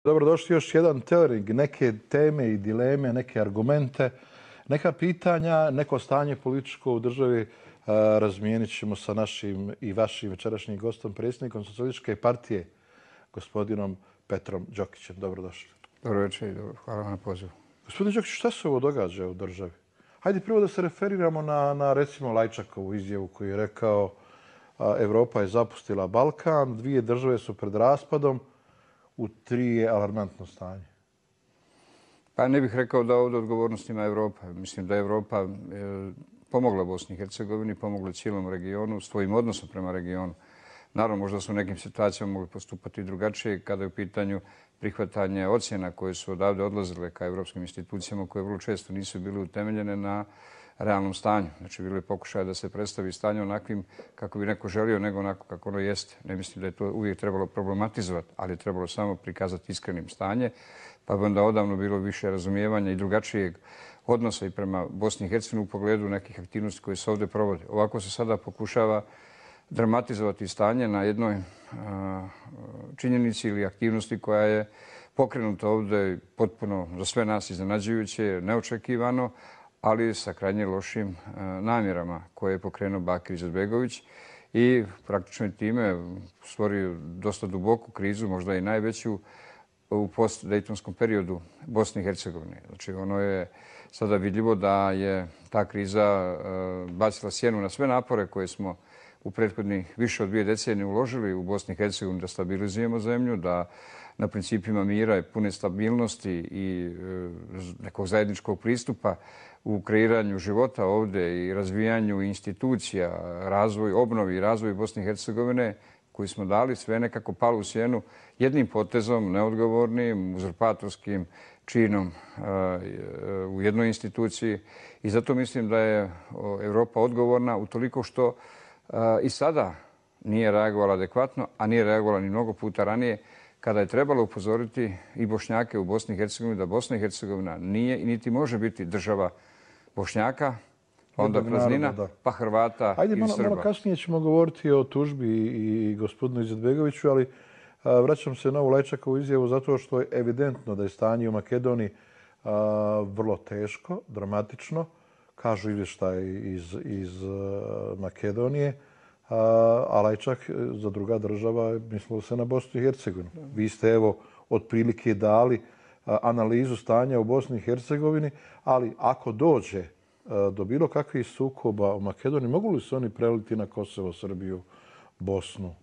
Dobrodošli još jedan teoring, neke teme i dileme, neke argumente, neka pitanja, neko stanje političko u državi razmijenit ćemo sa našim i vašim večerašnjim gostom, predsjednikom Socijalističke partije, gospodinom Petrom Đokićem. Dobrodošli. Dobro večer i hvala vam na pozivu. Gospodin Đokić, šta se ovo događa u državi? Hajde prvo da se referiramo na recimo Lajčakovu izjavu koju je rekao Evropa je zapustila Balkan, dvije države su pred raspadom, u tri je alarmantno stanje. Pa ne bih rekao da ovdje odgovornost ima Evropa. Mislim da je Evropa pomogla Bosni i Hercegovini, pomogla cijelom regionu, svojim odnosom prema regionu. Naravno, možda su u nekim situacijama mogli postupati drugačije kada je u pitanju prihvatanje ocjena koje su odavde odlazile ka evropskim institucijama koje vrlo često nisu bile utemeljene na realnom stanju. Znači, bilo je pokušaja da se predstavi stanje onakvim kako bi neko želio, nego onako kako ono jeste. Ne mislim da je to uvijek trebalo problematizovati, ali je trebalo samo prikazati iskrenim stanje, pa bi onda odavno bilo više razumijevanja i drugačijeg odnosa i prema Bosni i Hercegovini u pogledu nekih aktivnosti koje se ovdje provode. Ovako se sada pokušava dramatizovati stanje na jednoj činjenici ili aktivnosti koja je pokrenuta ovdje potpuno za sve nas iznenađujuće, neočekivano, ali sa krajnje lošim namjerama koje je pokrenuo Bakir Izetbegović i praktično je time stvorio dosta duboku krizu, možda i najveću u post-dejtonskom periodu Bosne i Hercegovine. Znači, ono je sada vidljivo da je ta kriza bacila sjenu na sve napore koje smo u prethodnih više od 2 decenije uložili u Bosni i Hercegovini da stabilizujemo zemlju, da na principima mira i pune stabilnosti i nekog zajedničkog pristupa u kreiranju života ovdje i razvijanju institucija, obnovi i razvoju Bosne i Hercegovine koji smo dali, sve nekako palo u sjenu jednim potezom, neodgovornim, uzurpatorskim činom u jednoj instituciji. I zato mislim da je Evropa odgovorna utoliko što i sada nije reagovala adekvatno, a nije reagovala ni mnogo puta ranije kada je trebalo upozoriti i Bošnjake u Bosni i Hercegovini da Bosna i Hercegovina nije i niti može biti država Bošnjaka, onda praznina, pa Hrvata i Srba. Ajde, malo kasnije ćemo govoriti o tužbi i gospodinu Izetbegoviću, ali vraćam se na ovu Lajčakovu izjavu zato što je evidentno da je stanje u Makedoniji vrlo teško, dramatično, kažu izvještaj iz Makedonije, a Lajčak za druga država mislilo se na Bosnu i Hercegovinu. Vi ste evo otprilike dali analizu stanja u Bosni i Hercegovini, ali ako dođe do bilo kakvih sukoba u Makedoniji, mogu li se oni preliti na Kosovo, Srbiju, Bosnu?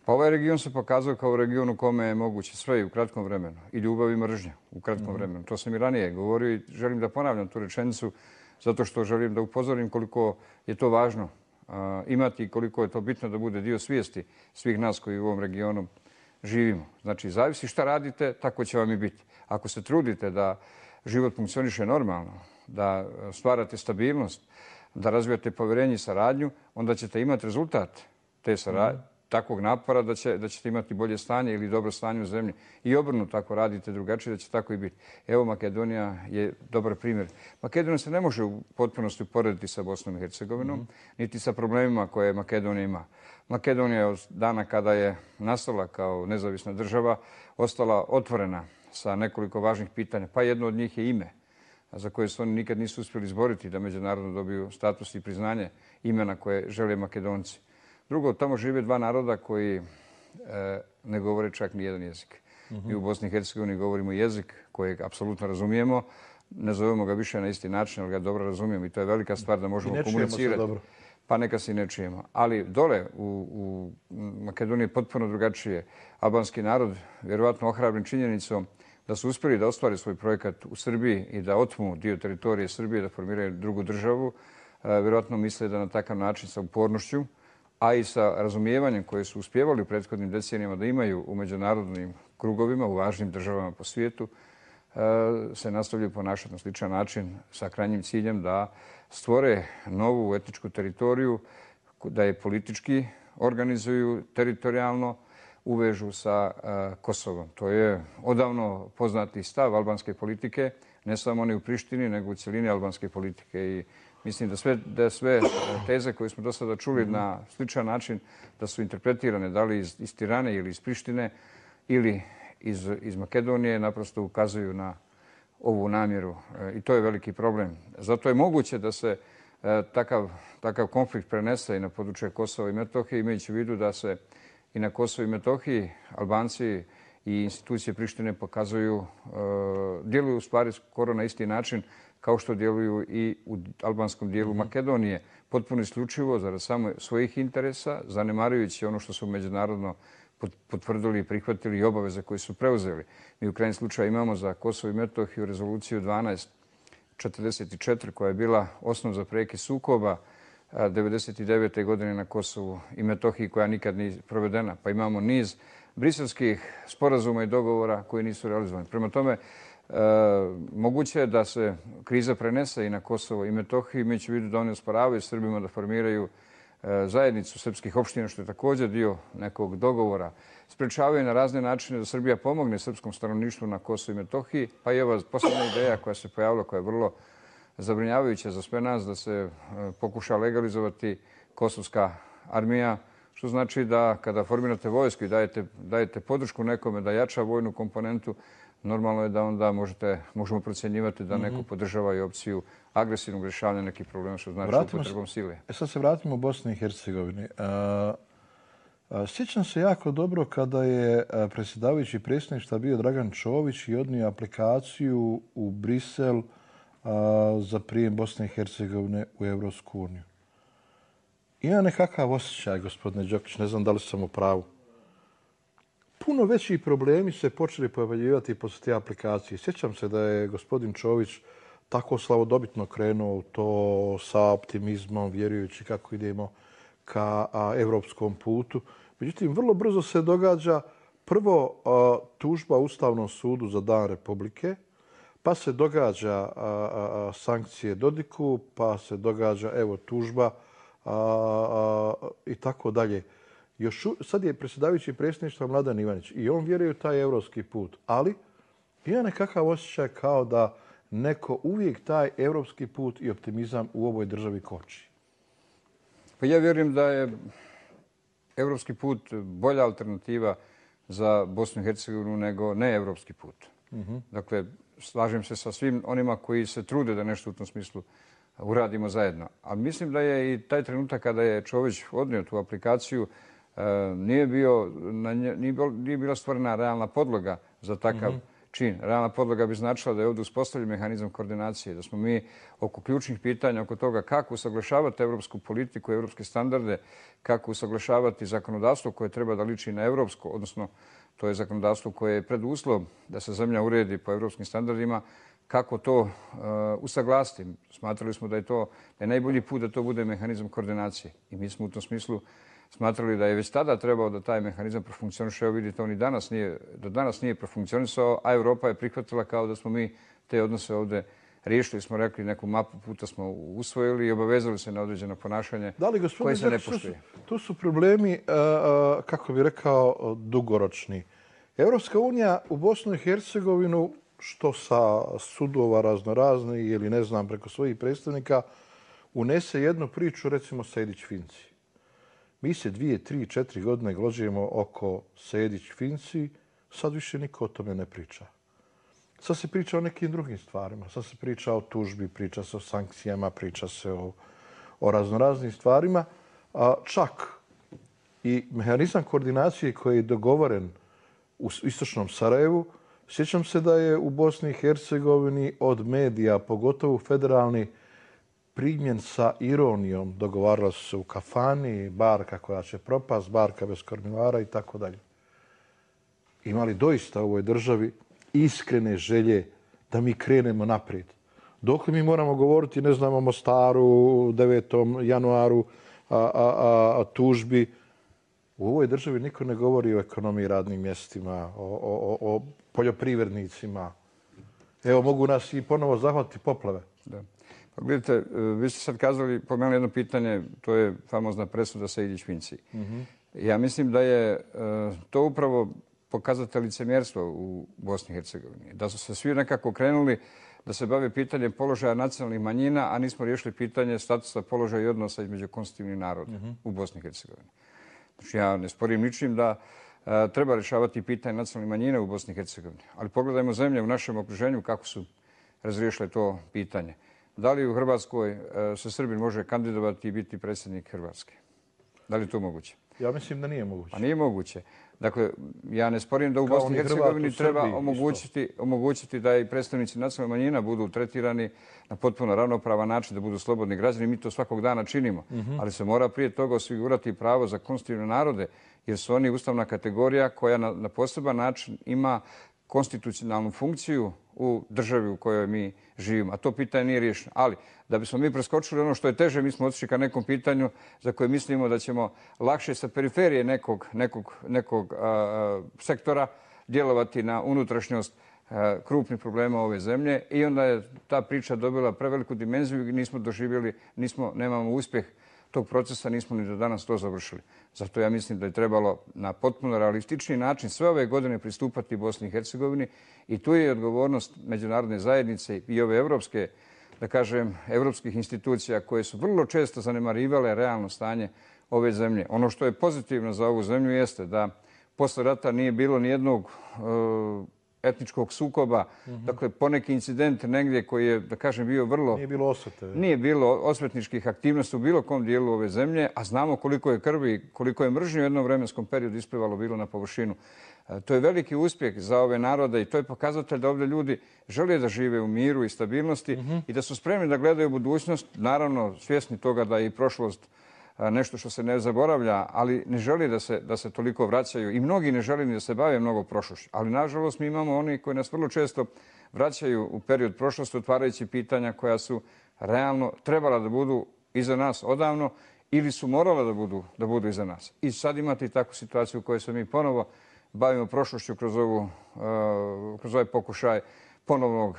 Pa ovaj region se pokazao kao region u kome je moguće sve i u kratkom vremenu. I ljubav i mržnja u kratkom vremenu. To sam i ranije govorio i želim da ponavljam tu rečenicu zato što želim da upozorim koliko je to važno imati i koliko je to bitno da bude dio svijesti svih nas koji u ovom regionu živimo. Znači, zavisi šta radite, tako će vam i biti. Ako se trudite da život funkcioniše normalno, da stvarate stabilnost, da razvijate povjerenje i saradnju, onda ćete imati rezultat te takvog napora da ćete imati bolje stanje ili dobro stanje u zemlji. I obrnuto, ako radite drugačije, da će tako i biti. Evo, Makedonija je dobar primjer. Makedonija se ne može u potpunosti uporediti sa Bosnom i Hercegovinom, niti sa problemima koje Makedonija ima. Makedonija je od dana kada je nastala kao nezavisna država ostala otvorena sa nekoliko važnih pitanja, pa jedno od njih je ime, za koje se oni nikad nisu uspjeli izboriti da međunarodno dobiju status i priznanje imena koje žele Makedonci. Drugo, tamo žive dva naroda koji ne govore čak ni jedan jezik. Mi u Bosni i Hercegovini govorimo jezik kojeg apsolutno razumijemo. Ne zovemo ga više na isti način, ali ga dobro razumijemo i to je velika stvar da možemo komunicirati. Pa neka se ne čujemo. Ali dole u Makedoniji je potpuno drugačije. Albanski narod, vjerovatno ohrabren činjenicom da su uspjeli da ostvare svoj projekat u Srbiji i da otmu dio teritorije Srbije, da formiraju drugu državu, vjerovatno misle da na takav način sa upornošću, a i sa razumijevanjem koje su uspjevali u prethodnim decenijama da imaju u međunarodnim krugovima, u važnim državama po svijetu, se nastavljaju ponašati na sličan način sa krajnjim ciljem da stvore novu etničku teritoriju, da je politički organizuju teritorijalno, uvežu sa Kosovom. To je odavno poznati stav albanske politike, ne samo oni u Prištini, nego u cijelini albanske politike. I mislim da sve teze koje smo do sada čuli na sličan način da su interpretirane da li iz Tirane ili iz Prištine ili iz Makedonije naprosto ukazuju na ovu namjeru i to je veliki problem. Zato je moguće da se takav konflikt prenese i na područje Kosova i Metohije, imajući u vidu da se i na Kosovu i Metohiji Albanci i institucije Prištine djeluju u stvari skoro na isti način kao što djeluju i u albanskom dijelu Makedonije, potpuno isključivo zarad samo svojih interesa, zanemarujući ono što su međunarodno potvrdili i prihvatili i obaveze koje su preuzeli. Mi u krajnjem slučaju imamo za Kosovo i Metohiju rezoluciju 1244 koja je bila osnov za prekid sukoba 1999. godine na Kosovu i Metohiji koja nikad nije provedena. Pa imamo niz briselskih sporazuma i dogovora koji nisu realizovani. Prema tome, moguće je da se kriza prenese i na Kosovo i Metohiju, imajući u vidu da oni osporavaju Srbima da formiraju zajednicu srpskih opština, što je također dio nekog dogovora. Sprečavaju na razne načine da Srbija pomogne srpskom stanovništvu na Kosovu i Metohiji. Pa i ova posljednja ideja koja se pojavila, koja je vrlo zabrinjavajuća za sve nas, da se pokuša legalizovati kosovska armija, što znači da kada formirate vojsku i dajete podršku nekome da jača vojnu komponentu, normalno je da onda možemo procjenjivati da neko podržava i opciju agresivnog rješavanja nekih problema, što znači upotrebom sile. Sad se vratimo u Bosni i Hercegovini. Sjećam se jako dobro kada je predsjedavajući predsjedništva bio Dragan Čović i odnio aplikaciju u Brisel za prijem Bosne i Hercegovine u Evropsku uniju. Ima nekakav osjećaj, gospodine Đokić, ne znam da li sam u pravu. Puno veći problemi se počeli pojavljivati poslije te aplikacije. Sjećam se da je gospodin Čović tako slavodobitno krenuo u to sa optimizmom, vjerujući kako idemo ka evropskom putu. Međutim, vrlo brzo se događa prvo tužba Ustavnom sudu za Dan Republike, pa se događa sankcije Dodiku, pa se događa tužba i tako dalje. Sad je predsjedavajući predsjedništva Mladen Ivanić i on vjeruje u taj evropski put, ali ima nekakav osjećaj kao da neko uvijek taj evropski put i optimizam u ovoj državi koči. Pa ja vjerujem da je evropski put bolja alternativa za Bosnu i Hercegovinu nego neevropski put. Dakle, slažem se sa svim onima koji se trude da nešto u tom smislu uradimo zajedno. A mislim da je i taj trenutak kada je Čović odnio tu aplikaciju, nije bila stvorena realna podloga za takav čin. Realna podloga bi značila da je ovdje uspostavljen mehanizam koordinacije, da smo mi oko ključnih pitanja, oko toga kako usaglašavati evropsku politiku, evropske standarde, kako usaglašavati zakonodavstvo koje treba da liči na evropsko, odnosno to je zakonodavstvo koje je preduslov da se zemlja uredi po evropskim standardima, kako to usaglasiti. Smatrali smo da je najbolji put da to bude mehanizam koordinacije. I mi smo u tom smislu smatrali da je već tada trebao da taj mehanizam profunkcioniše. Evo vidite, on i do danas nije profunkcionisao, a Evropa je prihvatila kao da smo mi te odnose ovdje riješili. Smo rekli, neku mapu puta smo usvojili i obavezali se na određeno ponašanje koje se ne poštuje. Tu su problemi, kako bih rekao, dugoročni. Evropska unija u Bosnu i Hercegovinu, što sa sudova raznoraznih ili ne znam preko svojih predstavnika, unese jednu priču, recimo Sejdić-Finci. Mi se 2, 3, 4 godine glođujemo oko Sejdić-Finci, sad više niko o tome ne priča. Sad se priča o nekim drugim stvarima. Sad se priča o tužbi, priča se o sankcijama, priča se o raznoraznim stvarima. Čak i mehanizam koordinacije koji je dogovoren u istočnom Sarajevu, sjećam se da je u Bosni i Hercegovini od medija, pogotovo federalni, primjen sa ironijom. Dogovarala su se u kafani, barka koja će propast, barka bez kormilara i tako dalje. Imali doista u ovoj državi iskrene želje da mi krenemo naprijed. Dokle mi moramo govoriti, ne znam, o Mostaru, 9. januaru, tužbi. U ovoj državi niko ne govori o ekonomiji, radnim mjestima, o poljoprivrednicima. Evo, mogu nas i ponovo zahvatiti poplave. Da. Pa gledajte, vi ste sad pomenuli jedno pitanje, to je famozna presuda Sejdić-Finci. Ja mislim da je to upravo pokazatelj licemjerstva u Bosni i Hercegovini. Da su se svi nekako krenuli da se bave pitanjem položaja nacionalnih manjina, a nismo riješili pitanje statusa, položaja i odnosa između konstitutivnih naroda u Bosni i Hercegovini. Znači, ja ne sporim ničim da treba rješavati pitanje nacionalnih manjina u Bosni i Hercegovini. Ali pogledajmo zemlje u našem okruženju kako su razriješile to pitanje. Da li u Hrvatskoj se Srbin može kandidovati i biti predsjednik Hrvatske? Da li je to moguće? Ja mislim da nije moguće. Pa nije moguće. Dakle, ja ne sporim da u Bosni i Hercegovini treba omogućiti da i predstavnici nacionalnih manjina budu tretirani na potpuno ravnopravan način, da budu slobodni građani. Mi to svakog dana činimo. Ali se mora prije toga osigurati pravo za konstitutivne narode, jer su oni ustavna kategorija koja na poseban način ima konstitucionalnu funkciju u državi u kojoj mi živimo. A to pitanje nije riješeno. Ali da bismo mi preskočili ono što je teže, mi smo otišli ka nekom pitanju za koje mislimo da ćemo lakše sa periferije nekog sektora djelovati na unutrašnjost krupnih problema ove zemlje i onda je ta priča dobila preveliku dimenziju i nismo doživjeli, nemamo uspjeh tog procesa, nismo ni do danas to završili. Zato ja mislim da je trebalo na potpuno realistični način sve ove godine pristupati Bosni i Hercegovini i tu je odgovornost međunarodne zajednice i ove evropske, da kažem, evropskih institucija koje su vrlo često zanemarivale realno stanje ove zemlje. Ono što je pozitivno za ovu zemlju jeste da posle rata nije bilo nijednog etničkog sukoba. Dakle, poneki incident negdje koji je, da kažem, bio vrlo... Nije bilo osvete. Nije bilo osvetničkih aktivnosti u bilo kom dijelu ove zemlje, a znamo koliko je krvi, koliko je mržnje u jednom vremenskom periodu isplivalo bilo na površinu. To je veliki uspjeh za ove narode i to je pokazatelj da ovdje ljudi žele da žive u miru i stabilnosti i da su spremni da gledaju budućnost, naravno svjesni toga da je i prošlost nešto što se ne zaboravlja, ali ne želi da se toliko vraćaju i mnogi ne žele ni da se bave mnogo prošlošću. Ali nažalost mi imamo oni koji nas vrlo često vraćaju u period prošlosti otvarajući pitanja koja su realno trebala da budu iza nas odavno ili su morala da budu iza nas. I sad imate i takvu situaciju u kojoj se mi ponovo bavimo prošlošću kroz ovaj pokušaj ponovnog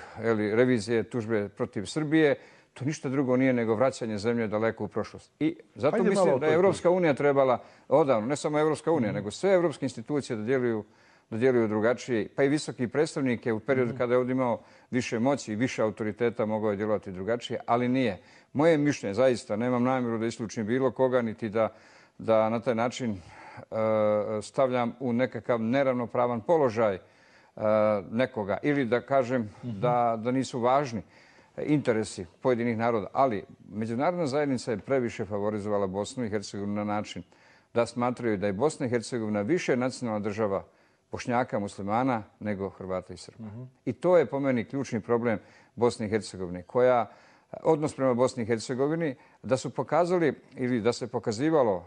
revizije tužbe protiv Srbije. To ništa drugo nije nego vraćanje zemlje daleko u prošlost. I zato mislim da je Evropska unija trebala odavno, ne samo Evropska unija, nego sve evropske institucije da djeluju drugačije. Pa i visoki predstavnike u periodu kada je ovdje imao više moći i više autoriteta mogao je djelovati drugačije, ali nije. Moje mišljenje, zaista, nemam namjeru da isključim bilo koga, niti da na taj način stavljam u nekakav neravnopravan položaj nekoga ili da kažem da nisu važni interesi pojedinih naroda. Ali međunarodna zajednica je previše favorizovala Bosnu i Hercegovinu na način da smatraju da je Bosna i Hercegovina više nacionalna država Bošnjaka, muslimana nego Hrvata i Srba. I to je po meni ključni problem Bosne i Hercegovine, koja odnos prema Bosni i Hercegovini da su pokazali ili da se pokazivao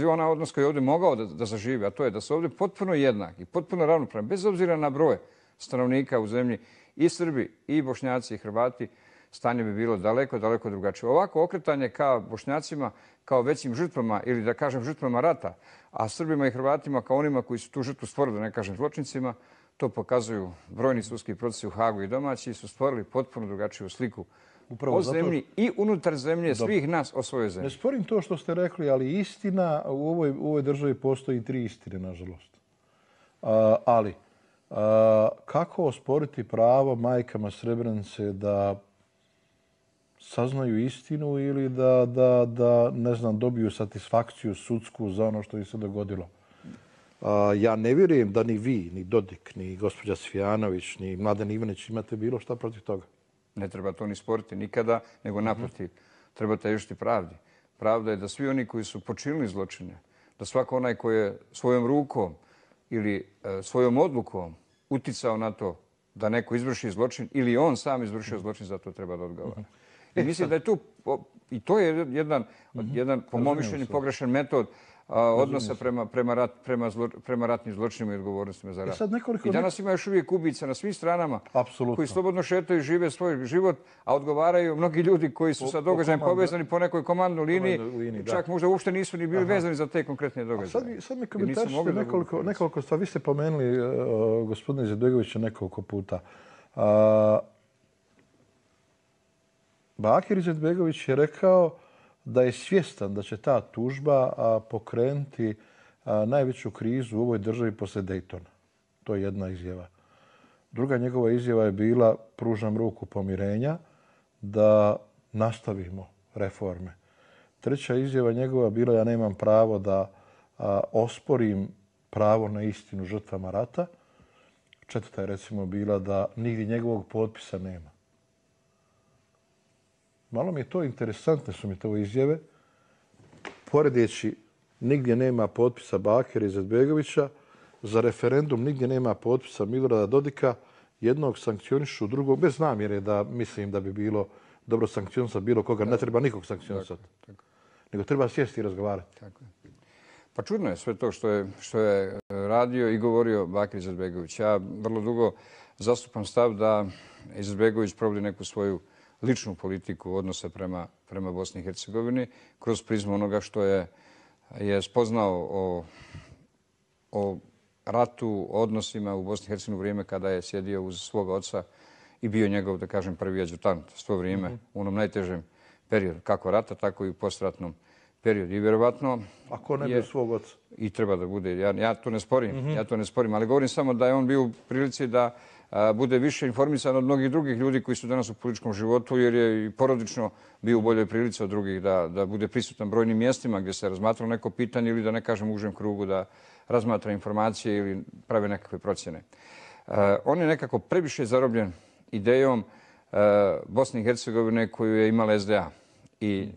onaj odnos koji je ovdje mogao da zaživi, a to je da su ovdje potpuno jednaki, potpuno ravnopravni, bez obzira na broj stanovnika u zemlji, i Srbi, i Bošnjaci, i Hrvati, stanje bi bilo daleko, daleko drugačije. Ovako okretanje ka Bošnjacima kao većim žrtvama ili da kažem žrtvama rata, a Srbima i Hrvatima kao onima koji su tu žrtvu stvorili, da ne kažem zločincima, to pokazuju brojni sudski procesi u Hagu i domaći, su stvorili potpuno drugačiju sliku o zemlji i unutar zemlje svih nas o svojoj zemlji. Ne sporim to što ste rekli, ali istina u ovoj državi postoji 3 istine, nažalost. Ali kako osporiti pravo majkama Srebrenice da saznaju istinu ili da ne znam, dobiju satisfakciju sudsku za ono što im se dogodilo? Ja ne vjerujem da ni vi, ni Dodik, ni gospođa Sfijanović, ni Mladen Ivanić imate bilo šta protiv toga. Ne treba to ni sporiti nikada, nego naprotiv. Treba težiti pravdi. Pravda je da svi oni koji su počinili zločine, da svako onaj koji je svojom rukom ili svojom odlukom uticao na to da neko izvrši zločin ili on sam izvršio zločin, za to treba da odgovara. I mislim da je tu, i to je jedan po mom mišljenju pogrešan metod odnosa prema ratnim zločinima i odgovornostima za rat. I danas ima još uvijek ubica na svim stranama koji slobodno šetaju i žive svoj život, a odgovaraju mnogi ljudi koji su sa događajem povezani po nekoj komandnoj liniji, čak možda uopšte nisu ni bili vezani za te konkretne događaje. Sad mi komentarišite nekoliko stvari. Vi ste pomenuli gospodina Izetbegovića nekoliko puta. Bakir Izetbegović je rekao da je svjestan da će ta tužba pokrenuti najveću krizu u ovoj državi poslije Daytona. To je jedna izjava. Druga njegova izjava je bila pružam ruku pomirenja da nastavimo reforme. Treća izjava njegova bila ja nemam pravo da osporim pravo na istinu žrtvama rata. Četvrta je recimo bila da nigdje njegovog potpisa nema. Malo mi je to interesantne su mi to izjave. Poredeći nigdje nema potpisa Bakira Izetbegovića, za referendum nigdje nema potpisa Milorada Dodika, jednog sankcionišu, drugog, bez namjere da mislim da bi bilo dobro sankcionisati bilo koga, ne treba nikog sankcionisati. Nego treba sjesti i razgovarati. Tako je. Pa čudno je sve to što je radio i govorio Bakir Izetbegović. Ja vrlo dugo zastupam stav da Izetbegović provodi neku svoju ličnu politiku odnosa prema Bosni i Hercegovini kroz prizmu onoga što je spoznao o ratu, o odnosima u Bosni i Hercegovini u vrijeme kada je sjedio uz svoga oca i bio njegov, da kažem, prvi adjutant svo vrijeme u onom najtežem periodu, kako rata, tako i u postratnom periodu. I vjerovatno... Ako ne bi svog oca? I treba da bude. Ja to ne sporim, ali govorim samo da je on bio u prilici da bude više informisan od mnogih drugih ljudi koji su danas u političkom životu, jer je i porodično bio u boljoj prilici od drugih da bude prisutan brojnim mjestima gdje se razmatralo neko pitanje ili da ne kažem u užem krugu da razmatra informacije ili prave nekakve procjene. On je nekako previše zarobljen idejom Bosne i Hercegovine koju je imala SDA i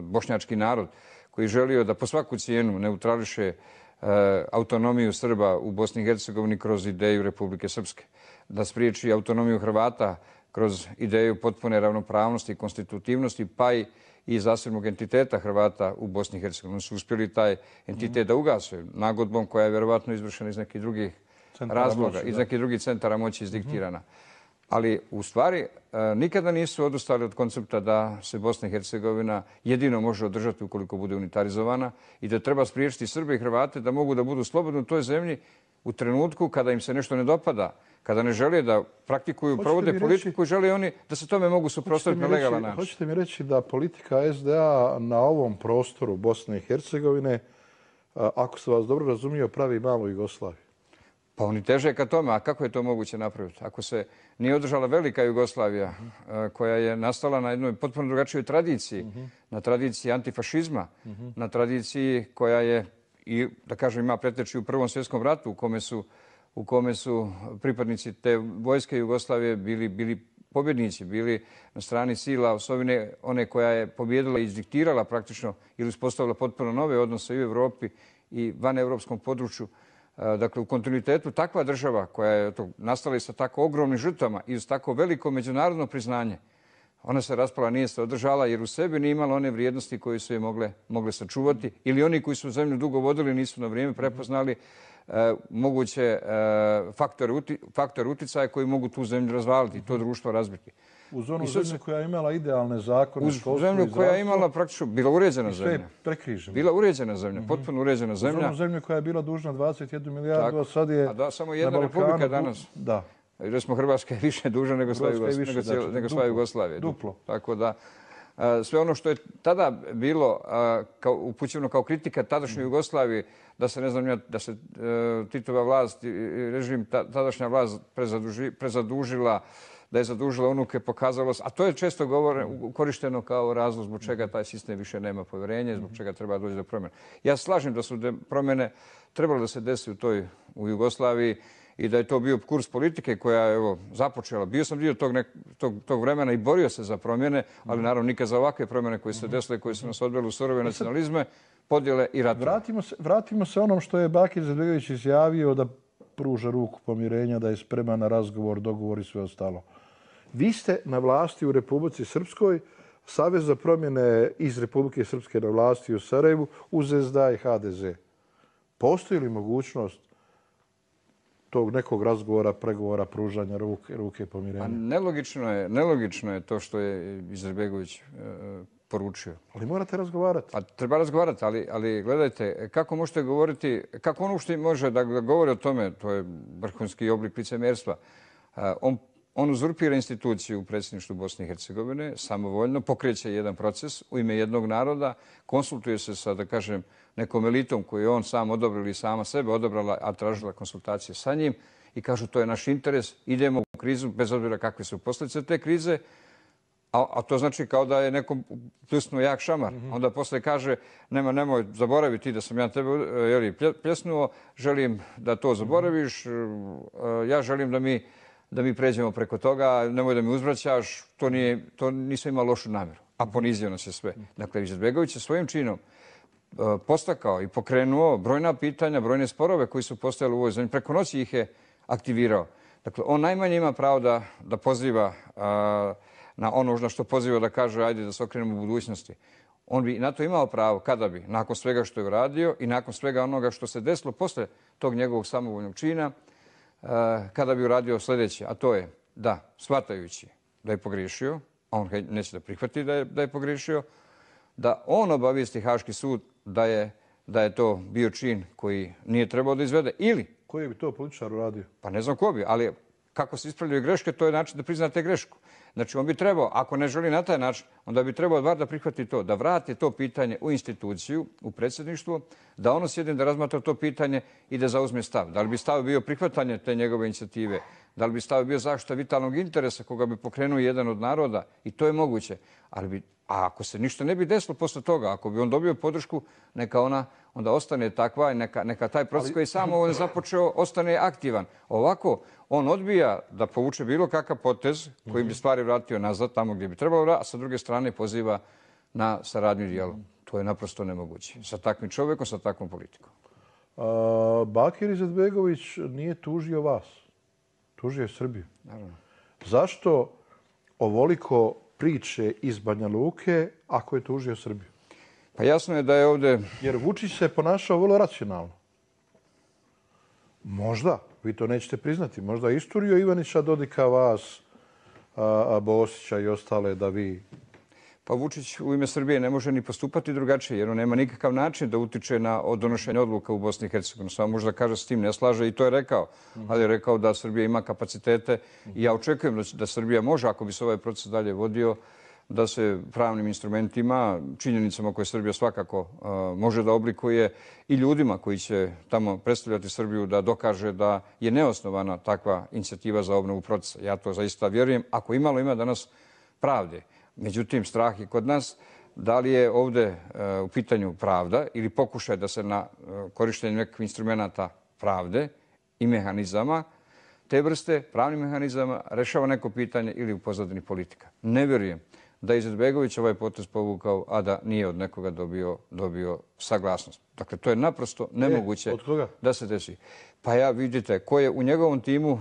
bošnjački narod koji je želio da po svaku cijenu neutrališe autonomiju Srba u Bosni i Hercegovini kroz ideju Republike Srpske, da spriječi autonomiju Hrvata kroz ideju potpune ravnopravnosti i konstitutivnosti, pa i zasebnog entiteta Hrvata u Bosni i Hercegovini. Oni su uspjeli taj entitet da ugase nagodbom koja je vjerovatno izvršena iz nekih drugih razloga, iz nekih drugih centara moći izdiktirana. Ali u stvari nikada nisu odustali od koncepta da se Bosna i Hercegovina jedino može održati ukoliko bude unitarizovana i da treba spriječiti Srbe i Hrvate da mogu da budu slobodni u toj zemlji u trenutku kada im se nešto ne dopada, kada ne žele da praktikuju, provode politiku i žele oni da se tome mogu suprotstaviti na legalan način. Hoćete mi reći da politika SDA na ovom prostoru Bosne i Hercegovine, ako se vas dobro razumio, pravi malu Jugoslaviju? Pa oni teže ka tome, a kako je to moguće napraviti? Ako se nije održala velika Jugoslavija koja je nastala na jednoj potpuno drugačijoj tradiciji, na tradiciji antifašizma, na tradiciji koja je, i da kažem, ima preteči u Prvom svjetskom ratu u kome su pripadnici te vojske Jugoslavije bili pobjednici, bili na strani sila osovine, one koja je pobjedila i izdiktirala praktično ili uspostavila potpuno nove odnose i u Evropi i van evropskom području. Dakle, u kontinuitetu takva država koja je nastala i sa tako ogromnim žrtvama i uz tako veliko međunarodno priznanje, ona se raspala, nije se održala jer u sebi nije imala one vrijednosti koje su je mogle sačuvati ili oni koji su zemlju dugo vodili nisu na vrijeme prepoznali moguće faktore uticaja koji mogu tu zemlju razvaliti i to društvo razbiti. Uz onu zemlju koja je imala idealne zakone, uz zemlju koja je imala praktično, bila uređena zemlja. I sve prekriženo. Bila uređena zemlja, potpuno uređena zemlja. Uz onu zemlju koja je bila dužna 21 milijardu, a sad je samo jedna republika danas. Da. Recimo Hrvatska je više dužna nego sva Jugoslavija. Duplo. Tako da sve ono što je tada bilo upućeno kao kritika tadašnjoj Jugoslaviji, da se, ne znam, da se Titova vlast, režim, tadašnja vlast prezadužila, da je zadužila unuke, pokazalo se, a to je često korišteno kao razlog zbog čega taj sistem više nema povjerenja, zbog čega treba doći do promjena. Ja slažem da su promjene trebalo da se desi u Jugoslaviji i da je to bio kurs politike koja je započela. Bio sam dio tog vremena i borio se za promjene, ali naravno nikad za ovakve promjene koje su se desile, koje su nas odvele u surove nacionalizme, podjele i ratove. Vratimo se onom što je Bakir Izetbegović izjavio da pruža ruku pomirenja, da je spreman na razgovor, dogovor i sve ostalo. Vi ste na vlasti u Republici Srpskoj, Savez za promjene iz Republike Srpske na vlasti u Sarajevu, uz SDA i HDZ. Postoji li mogućnost tog nekog razgovora, pregovora, pružanja ruke pomirenja? Nelogično je to što je Izetbegović poručio. Ali morate razgovarati. Pa treba razgovarati, ali gledajte, kako možete govoriti, kako on uopšte može da govori o tome, to je vrhunski oblik licemjerstva. On uzurpira instituciju u predsjedništvu Bosne i Hercegovine, samovoljno pokreće jedan proces u ime jednog naroda, konsultuje se sa, da kažem, nekom elitom koju je on sam odobrio ili sama sebe odobrala, a tražila konsultacije sa njim i kažu to je naš interes, idemo u krizu bez obzira kakve su posljedice te krize, A to znači kao da je nekom pljusnuo jak šamar. Onda posle kaže, nemoj zaboraviti da sam ja tebe pljusnuo, želim da to zaboraviš, ja želim da mi pređemo preko toga, nemoj da mi uzvraćaš, to nisam imao lošu namjeru. A ponizio nas je sve. Dakle, Izetbegović je svojim činom postakao i pokrenuo brojna pitanja, brojne sporove koji su postojali u ovoj zemlji. Preko noći ih je aktivirao. Dakle, on najmanje ima pravo da poziva na ono na što poziva da kaže ajde da se okrenemo u budućnosti. On bi na to imao pravo kada bi, nakon svega što je uradio i nakon svega onoga što se desilo posle tog njegovog samovoljnog čina, kada bi uradio sljedeće, a to je da, shvatajući da je pogriješio, a on neće da prihvati da je pogriješio, da on obavijesti Haški sud da je to bio čin koji nije trebao da izvede ili... Koji bi to političar uradio? Pa ne znam ko bi, ali kako se ispravljaju greške, to je način da priznate grešku. Znači, on bi trebao, ako ne želi na taj način, onda bi trebao bar da prihvati to, da vrati to pitanje u instituciju, u predsjedništvo, da ono sjedne da razmatra to pitanje i da zauzme stav. Da li bi stav bio prihvatanje te njegove inicijative? Da li bi stav bio zaštita vitalnog interesa koga bi pokrenuo jedan od naroda? I to je moguće. A ako se ništa ne bi desilo posle toga, ako bi on dobio podršku, neka ona onda ostane takva i neka taj proces koji je samo on započeo ostane aktivan. Ovako, on odbija da povuče bilo kakav potez koji bi stvari vratio nazad tamo gdje bi trebalo, a sa druge strane poziva na saradnju i dijalog. To je naprosto nemoguće. Sa takvim čovjekom, sa takvom politikom. Bakir Izetbegović nije tužio vas. Tužio je Srbiju. Naravno. Zašto ovoliko priče iz Banja Luke ako je tužio Srbiju? Pa jasno je da je ovdje... Jer Vučić se ponašao vrlo racionalno. Možda, vi to nećete priznati, možda je isturio Ivanića, Dodika, vas, Bosića i ostale da vi... Pa Vučić u ime Srbije ne može ni postupati drugačije jer on nema nikakav način da utiče na donošenje odluka u Bosni i Hercegovini. Samo možda kaže s tim ne slaže i to je rekao. Ali je rekao da Srbija ima kapacitete i ja očekujem da Srbija može, ako bi se ovaj proces dalje vodio, da se pravnim instrumentima, činjenicama koje Srbija svakako može da oblikuje i ljudima koji će tamo predstavljati Srbiju da dokaže da je neosnovana takva inicijativa za obnovu procesa. Ja to zaista vjerujem. Ako imalo ima danas pravde. Međutim, strah je kod nas da li je ovdje u pitanju pravda ili pokušaj da se na korištenju nekakvih instrumenta pravde i mehanizama te vrste, pravnih mehanizama, rešava neko pitanje ili u pozadini politika. Ne vjerujem da je Izetbegović ovaj potez povukao, a da nije od nekoga dobio saglasnost. Dakle, to je naprosto nemoguće da se desi. Pa ja vidite, ko je u njegovom timu,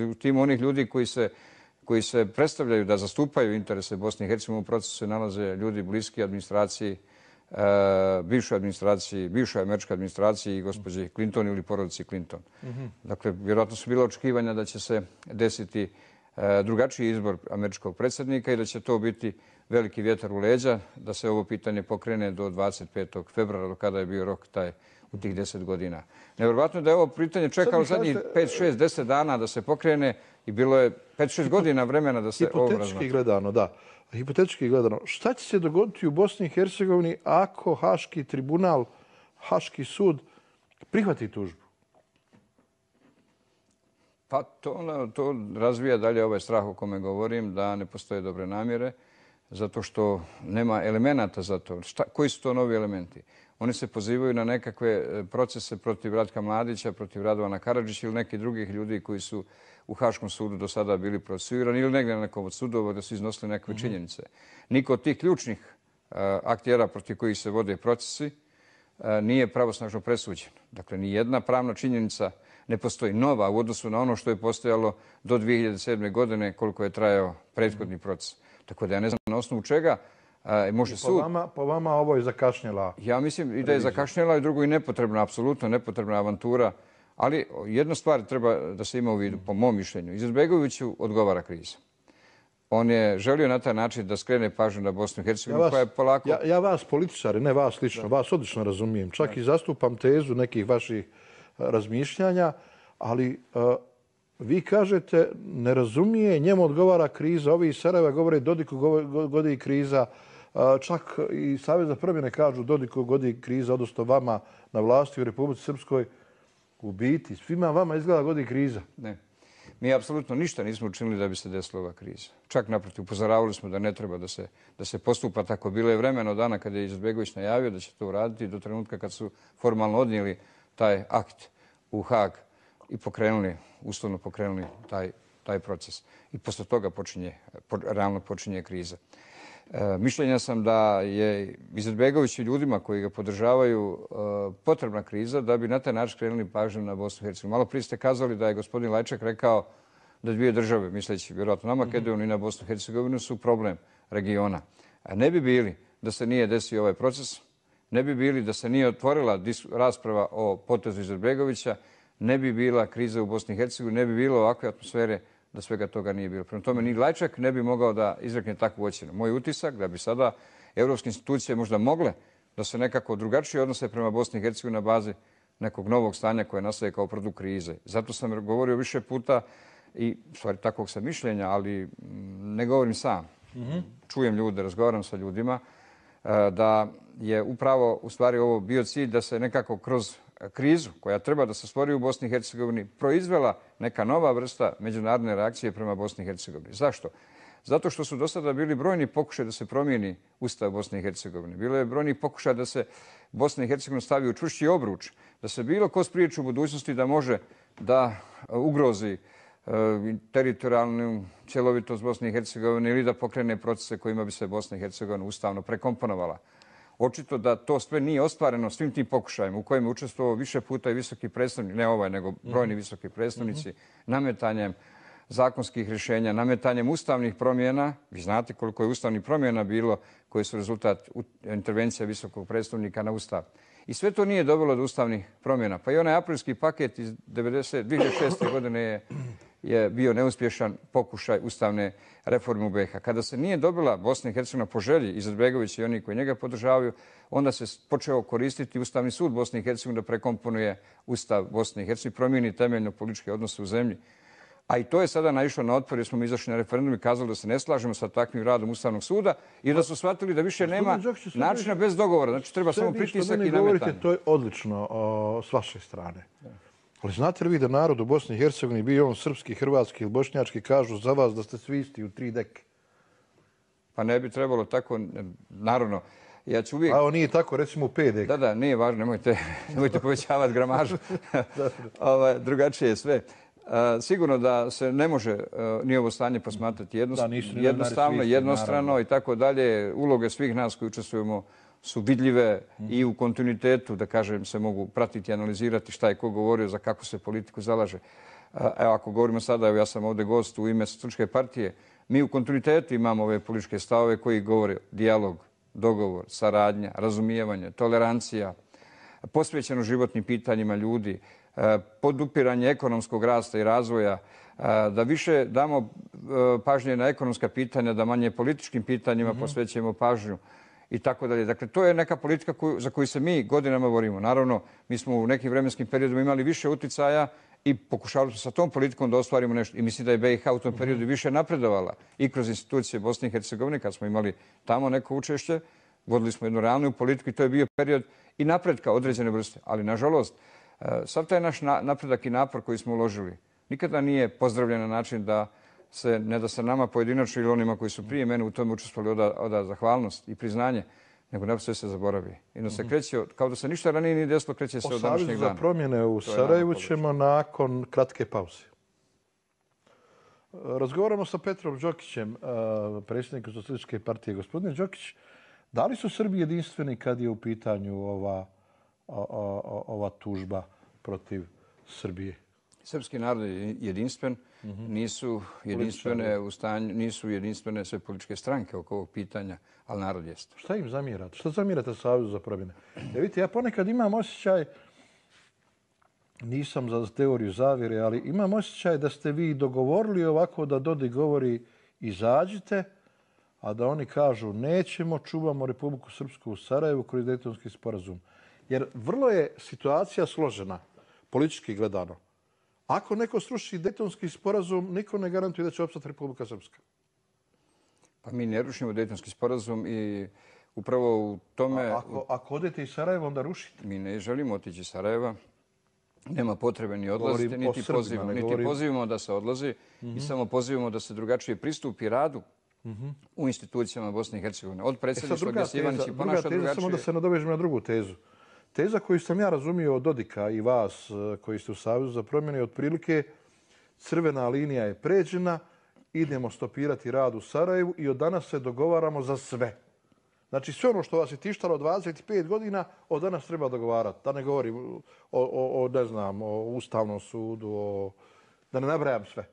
u timu onih ljudi koji se predstavljaju da zastupaju interese Bosne i Hercegovine, u procesu se nalaze ljudi bliski administraciji, bivšoj administraciji, bivšoj američkoj administraciji i gospođi Clinton ili porodici Clinton. Dakle, vjerojatno su bila očekivanja da će se desiti drugačiji izbor američkog predsjednika i da će to biti veliki vjetar u leđa, da se ovo pitanje pokrene do 25. februara, do kada je bio rok taj u tih 10 godina. Nevjerovatno da je ovo pitanje čekalo zadnjih 5, 6, 10 dana da se pokrene i bilo je 5-6 godina vremena da se ovo razmatra. Hipotetički gledano, da. Hipotetički gledano, šta će se dogoditi u Bosni i Hercegovini ako Haški tribunal, Haški sud prihvati tužbu? Pa to razvija dalje ovaj strah o kome govorim, da ne postoje dobre namjere, zato što nema elemenata za to. Koji su to novi elementi? Oni se pozivaju na nekakve procese protiv Ratka Mladića, protiv Radovana Karadžića ili nekih drugih ljudi koji su u Haškom sudu do sada bili procesuirani ili negdje na nekom od sudova da su iznosili nekakve činjenice. Niko od tih ključnih aktera protiv kojih se vode procesi nije pravosnažno presuđen. Dakle, ni jedna pravna činjenica ne postoji nova u odnosu na ono što je postojalo do 2007. godine koliko je trajao prethodni proces. Tako da ja ne znam na osnovu čega može sud... Po vama ovo je zakašnjela? Ja mislim i da je zakašnjela i drugo i nepotrebna, apsolutno nepotrebna avantura. Ali jedna stvar treba da se ima u vidu, po mom mišljenju. Izetbegoviću odgovara kriza. On je želio na taj način da skrene pažnju na Bosnu i Hercegovinu, koja je polako... Ja vas političari, ne vas lično, vas odlično razumijem. Čak i zastupam tezu nekih vaših razmišljanja, ali vi kažete ne razumije, njemu odgovara kriza, ovi iz Sarajeva govore Dodiku godi kriza, čak i Savez za promjene kažu Dodiku godi kriza, odnosno vama na vlasti u Republici Srpskoj. U biti, svima vama izgleda godi kriza. Ne. Mi apsolutno ništa nismo učinili da bi se desila ova kriza. Čak naprotiv, upozoravali smo da ne treba da se postupa tako. Bilo je vremena od dana kada je Izetbegović najavio da će to uraditi do trenutka kad su formalno odnijeli taj akt u Haag i uslovno pokrenuli taj proces. I posle toga realno počinje kriza. Mišljenja sam da je Izetbegović i ljudima koji ga podržavaju potrebna kriza da bi na taj način skrenuli pažnju na Bosnu i Hercegovinu. Malo prije ste kazali da je gospodin Lajčak rekao da dvije države, misleći vjerojatno na Makedoniju i na Bosnu i Hercegovinu, su problem regiona. A ne bi bili da se nije desio ovaj proces, ne bi bili da se nije otvorila rasprava o potezu Izetbegovića, ne bi bila kriza u Bosni i Hercegovini, ne bi bilo ovakve atmosfere da svega toga nije bilo. Prema tome, ni Lajčak ne bi mogao da izrekne takvu ocjenu. Moj utisak da bi sada evropske institucije možda mogle da se nekako drugačije odnose prema Bosni i Hercegovini na bazi nekog novog stanja koje nastaje kao produkt krize. Zato sam govorio više puta i stvari takvog sam mišljenja, ali ne govorim sam. Čujem ljude, razgovaram sa ljudima, da je upravo u stvari ovo bio cilj da se nekako kroz krizu koja treba da se stvori u Bosni i Hercegovini proizvela neka nova vrsta međunarodne reakcije prema Bosni i Hercegovini. Zašto? Zato što su do sada bili brojni pokušaj da se promijeni Ustav Bosne i Hercegovine. Bilo je brojni pokušaj da se Bosna i Hercegovina stavi u čvršći obruč, da se bilo ko spriječi u budućnosti da može da ugrozi teritorijalnu cjelovitost Bosne i Hercegovine ili da pokrene procese kojima bi se Bosna i Hercegovina ustavno prekomponovala. Očito da to sve nije ostvareno svim tim pokušajima u kojima je učestvovao više puta i visoki predstavnik, ne ovaj, nego brojni visoki predstavnici, nametanjem zakonskih rješenja, nametanjem ustavnih promjena. Vi znate koliko je ustavnih promjena bilo koje su rezultat intervencija visokog predstavnika na Ustav. I sve to nije dovelo do ustavnih promjena. Pa i onaj aprilski paket iz 2006. godine je bio neuspješan pokušaj ustavne reforme u BiH. Kada se nije dobila Bosna i Hercegovina po želji Izetbegovića i oni koji njega podržavaju, onda se počeo koristiti Ustavni sud Bosne i Hercegovine da prekomponuje Ustav Bosne i Hercegovine, promijeni temeljno političke odnose u zemlji. A i to je sada naišlo na otpor jer smo mi izašli na referendum i kazali da se ne slažemo sa takvim radom Ustavnog suda i da su shvatili da više nema načina bez dogovora. Znači treba samo pritisak i nametanje. To je odlično s vaše strane. Ali znate li vi da narod u Bosni i Hercegovini, bio on srpski, hrvatski ili bošnjački, kažu za vas da ste svi isti u 3 deke? Pa ne bi trebalo tako, naravno. Ja ću uvijek... A ovo nije tako, recimo u 5 deke. Da, nije važno, nemojte povećavati gramažu. Drugačije je sve. Sigurno da se ne može ni ovo stanje posmatrati jednostavno, jednostrano i tako dalje. Uloge svih nas koji učestvujemo su vidljive i u kontinuitetu, da kažem, se mogu pratiti i analizirati šta je ko govorio, za kako se politiku zalaže. Evo, ako govorimo sada, evo ja sam ovdje gost u ime Socijalističke partije, mi u kontinuitetu imamo ove političke stavove koji govore dijalog, dogovor, saradnja, razumijevanje, tolerancija, posvećeno životnim pitanjima ljudi, podupiranje ekonomskog rasta i razvoja, da više damo pažnje na ekonomska pitanja, da manje političkim pitanjima posvećujemo pažnju i tako dalje. Dakle, to je neka politika za koju se mi godinama borimo. Naravno, mi smo u nekim vremenskim periodima imali više uticaja i pokušavali smo sa tom politikom da ostvarimo nešto. I mislim da je BiH u tom periodu više napredovala i kroz institucije Bosne i Hercegovine, kad smo imali tamo neko učešće, vodili smo jednu realnu politiku i to je bio period i napretka određene vrste. Ali, nažalost, sav taj naš napredak i napor koji smo uložili nikada nije pozdravljen na način da se, ne da se nama pojedinačno ili onima koji su prije mene u tome učestvovali oda zahvalnost i priznanje, nego naprosto se zaboravi. I da se kreće, kao da se ništa ranije nije desilo, kreće se od današnjeg dana. O Savezu za promjene u Sarajevu ćemo nakon kratke pauze. Razgovaramo sa Petrom Đokićem, predsjednikom Socijalističke partije. Gospodine Đokić, da li su Srbi jedinstveni kad je u pitanju ova tužba protiv Srbije? Srpski narod je jedinstven, nisu jedinstvene sve političke stranke oko ovog pitanja, ali narod jeste. Šta im zamjerate? Šta zamjerate Savezu za promjene? Vidite, ja ponekad imam osjećaj, nisam za teoriju zavjere, ali imam osjećaj da ste vi dogovorili ovako da Dodik govori izađite, a da oni kažu nećemo, čuvamo Republiku Srpsku u Sarajevu kroz Dejtonski sporazum. Jer vrlo je situacija složena, politički gledano. Ako neko sruši Dejtonski sporazum, niko ne garantuje da će opstati Republika Srpska. Pa mi ne rušimo Dejtonski sporazum i upravo u tome... Ako odete iz Sarajeva, onda rušite. Mi ne želimo otići iz Sarajeva. Nema potrebe ni odlaziti, Govorim o Srbima, ne niti govorim... pozivamo da se odlazi i samo pozivamo da se drugačije pristupi radu u institucijama Bosne i Hercegovine. Od predsjedništva gdje se Ivanić i ponaša drugačije. Samo da se nadovežem na drugu tezu. Teza koju sam ja razumio od Dodika i vas koji ste u Savezu za promjene je otprilike crvena linija je pređena, idemo stopirati rad u Sarajevu i od danas se dogovaramo za sve. Znači sve ono što vas je tištalo 25 godina, od danas treba dogovarati. Da ne govorim o Ustavnom sudu, da ne nabrajam sve.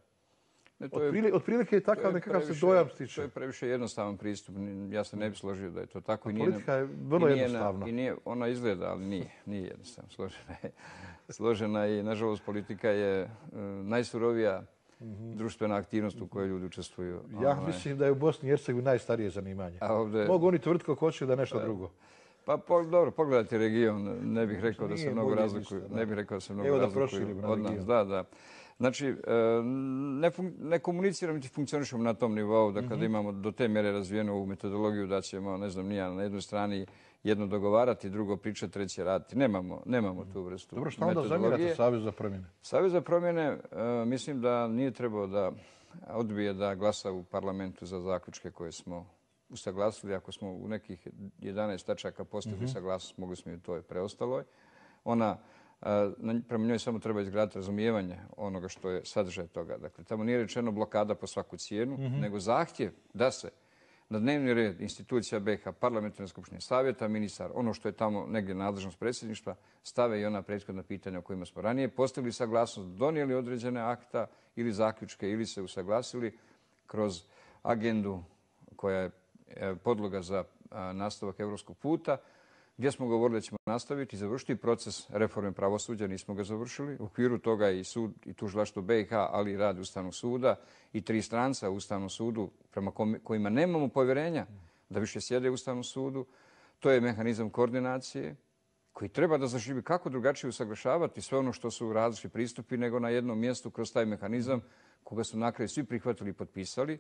Otprilike je takav nekakav se dojam stiče. To je previše jednostavan pristup. Ja se ne bi složio da je to tako. Politika je vrlo jednostavna. Ona izgleda, ali nije jednostavna. Složena i, nažalost, politika je najsurovija društvena aktivnost u kojoj ljudi učestvuju. Ja mislim da je u Bosni i Hercegovini najstarije zanimanje. Mogu oni tvrditi kako hoće da je nešto drugo. Pa dobro, pogledajte region. Ne bih rekao da se mnogo razlikuju. Ne bih rekao da se mnogo razlikuju od nas. Da. Znači, ne komuniciramo niti funkcionišemo na tom nivou da kada imamo do te mjere razvijenu ovu metodologiju da ćemo, ne znam, nija na jednoj strani jedno dogovarati, drugo pričati, treće raditi. Nemamo tu vrstu metodologije. Dobro, što onda zamirate Savez za promjene? Savez za promjene mislim da nije trebao da odbije da glasa u parlamentu za zaključke koje smo usaglasili. Ako smo u nekih 11 tačaka postigli saglasnost, mogli smo i u toj preostaloj. Prema njoj samo treba izgraditi razumijevanje onoga što je sadržaj toga. Dakle, tamo nije rečeno blokada po svaku cijenu, nego zahtjev da se na dnevni red institucija BiH, parlamentarne skupštine, savjeta, ministar, ono što je tamo negdje nadležnost predsjedništva, stave i ona prethodna pitanja o kojima smo ranije postigli saglasnost, donijeli određene akta ili zaključke ili se usaglasili kroz agendu koja je podloga za nastavak europskog puta, gdje smo govorili da ćemo nastaviti i završiti proces reforme pravosuđa, nismo ga završili. U okviru toga i sud i tužilaštvo BiH, ali i rad Ustavnog suda i 3 stranca u Ustavnom sudu prema kojima nemamo povjerenja da više sjede u Ustavnom sudu. To je mehanizam koordinacije koji treba da zaživi kako drugačije usaglašavati sve ono što su različiti pristupi nego na jednom mjestu kroz taj mehanizam koga su na kraju svi prihvatili i potpisali.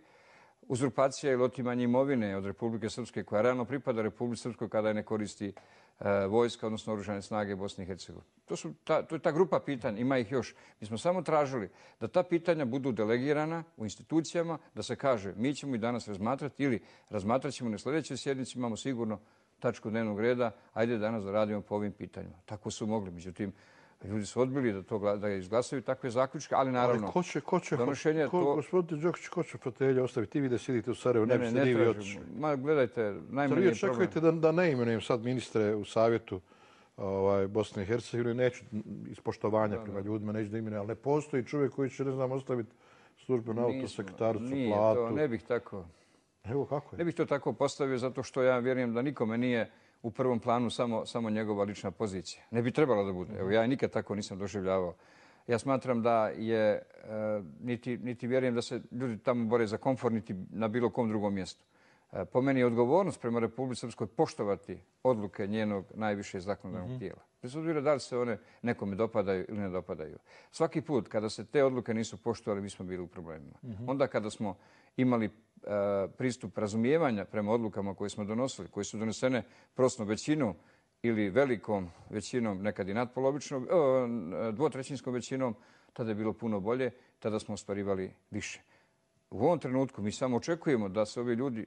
Uzurpacija ili otimanje imovine od Republike Srpske koja realno pripada Republike Srpskoj kada je ne koristi vojska, odnosno oružane snage Bosne i Hercegovine. To je ta grupa pitanja, ima ih još. Mi smo samo tražili da ta pitanja budu delegirana u institucijama, da se kaže mi ćemo i danas razmatrati ili razmatrat ćemo na sljedećoj sjednici, imamo sigurno tačku dnevnog reda, ajde danas da radimo po ovim pitanjima. Tako su mogli, međutim, ljudi su odbili da izglasaju takve zaključke, ali naravno... Ali gospodin Đokić, ko će fotelje ostaviti? Vi da sidite u Sarajevu, ne biste ni vi otišli. Ma gledajte, najmanje je problem. Vi očekujete da ne imenujem sad ministre u savjetu Bosne i Hercegovine, neću iz poštovanja prema ljudima, neću da imenujem, ali ne postoji čovjek koji će, ne znam, ostaviti službenu autosekretaricu, platu. Ne bih tako. Evo kako je. Ne bih to tako postavio zato što ja vjerujem da nikome nije u prvom planu samo njegova lična pozicija. Ne bi trebalo da bude. Evo, ja nikad tako nisam doživljavao. Ja smatram da je, niti vjerujem da se ljudi tamo bore za komfort, niti na bilo kom drugom mjestu. Po meni je odgovornost prema Republici Srpskoj poštovati odluke njenog najviše zakonodavnog tijela. Bez obzira da li se one nekome dopadaju ili ne dopadaju. Svaki put kada se te odluke nisu poštovali, mi smo bili u problemima. Onda kada smo imali pristup razumijevanja prema odlukama koje smo donosili, koje su donesene prostom većinom ili velikom većinom, nekad i nadpolovičnom, dvotrećinskom većinom, tada je bilo puno bolje, tada smo ostvarivali više. U ovom trenutku mi samo očekujemo da se ovi ljudi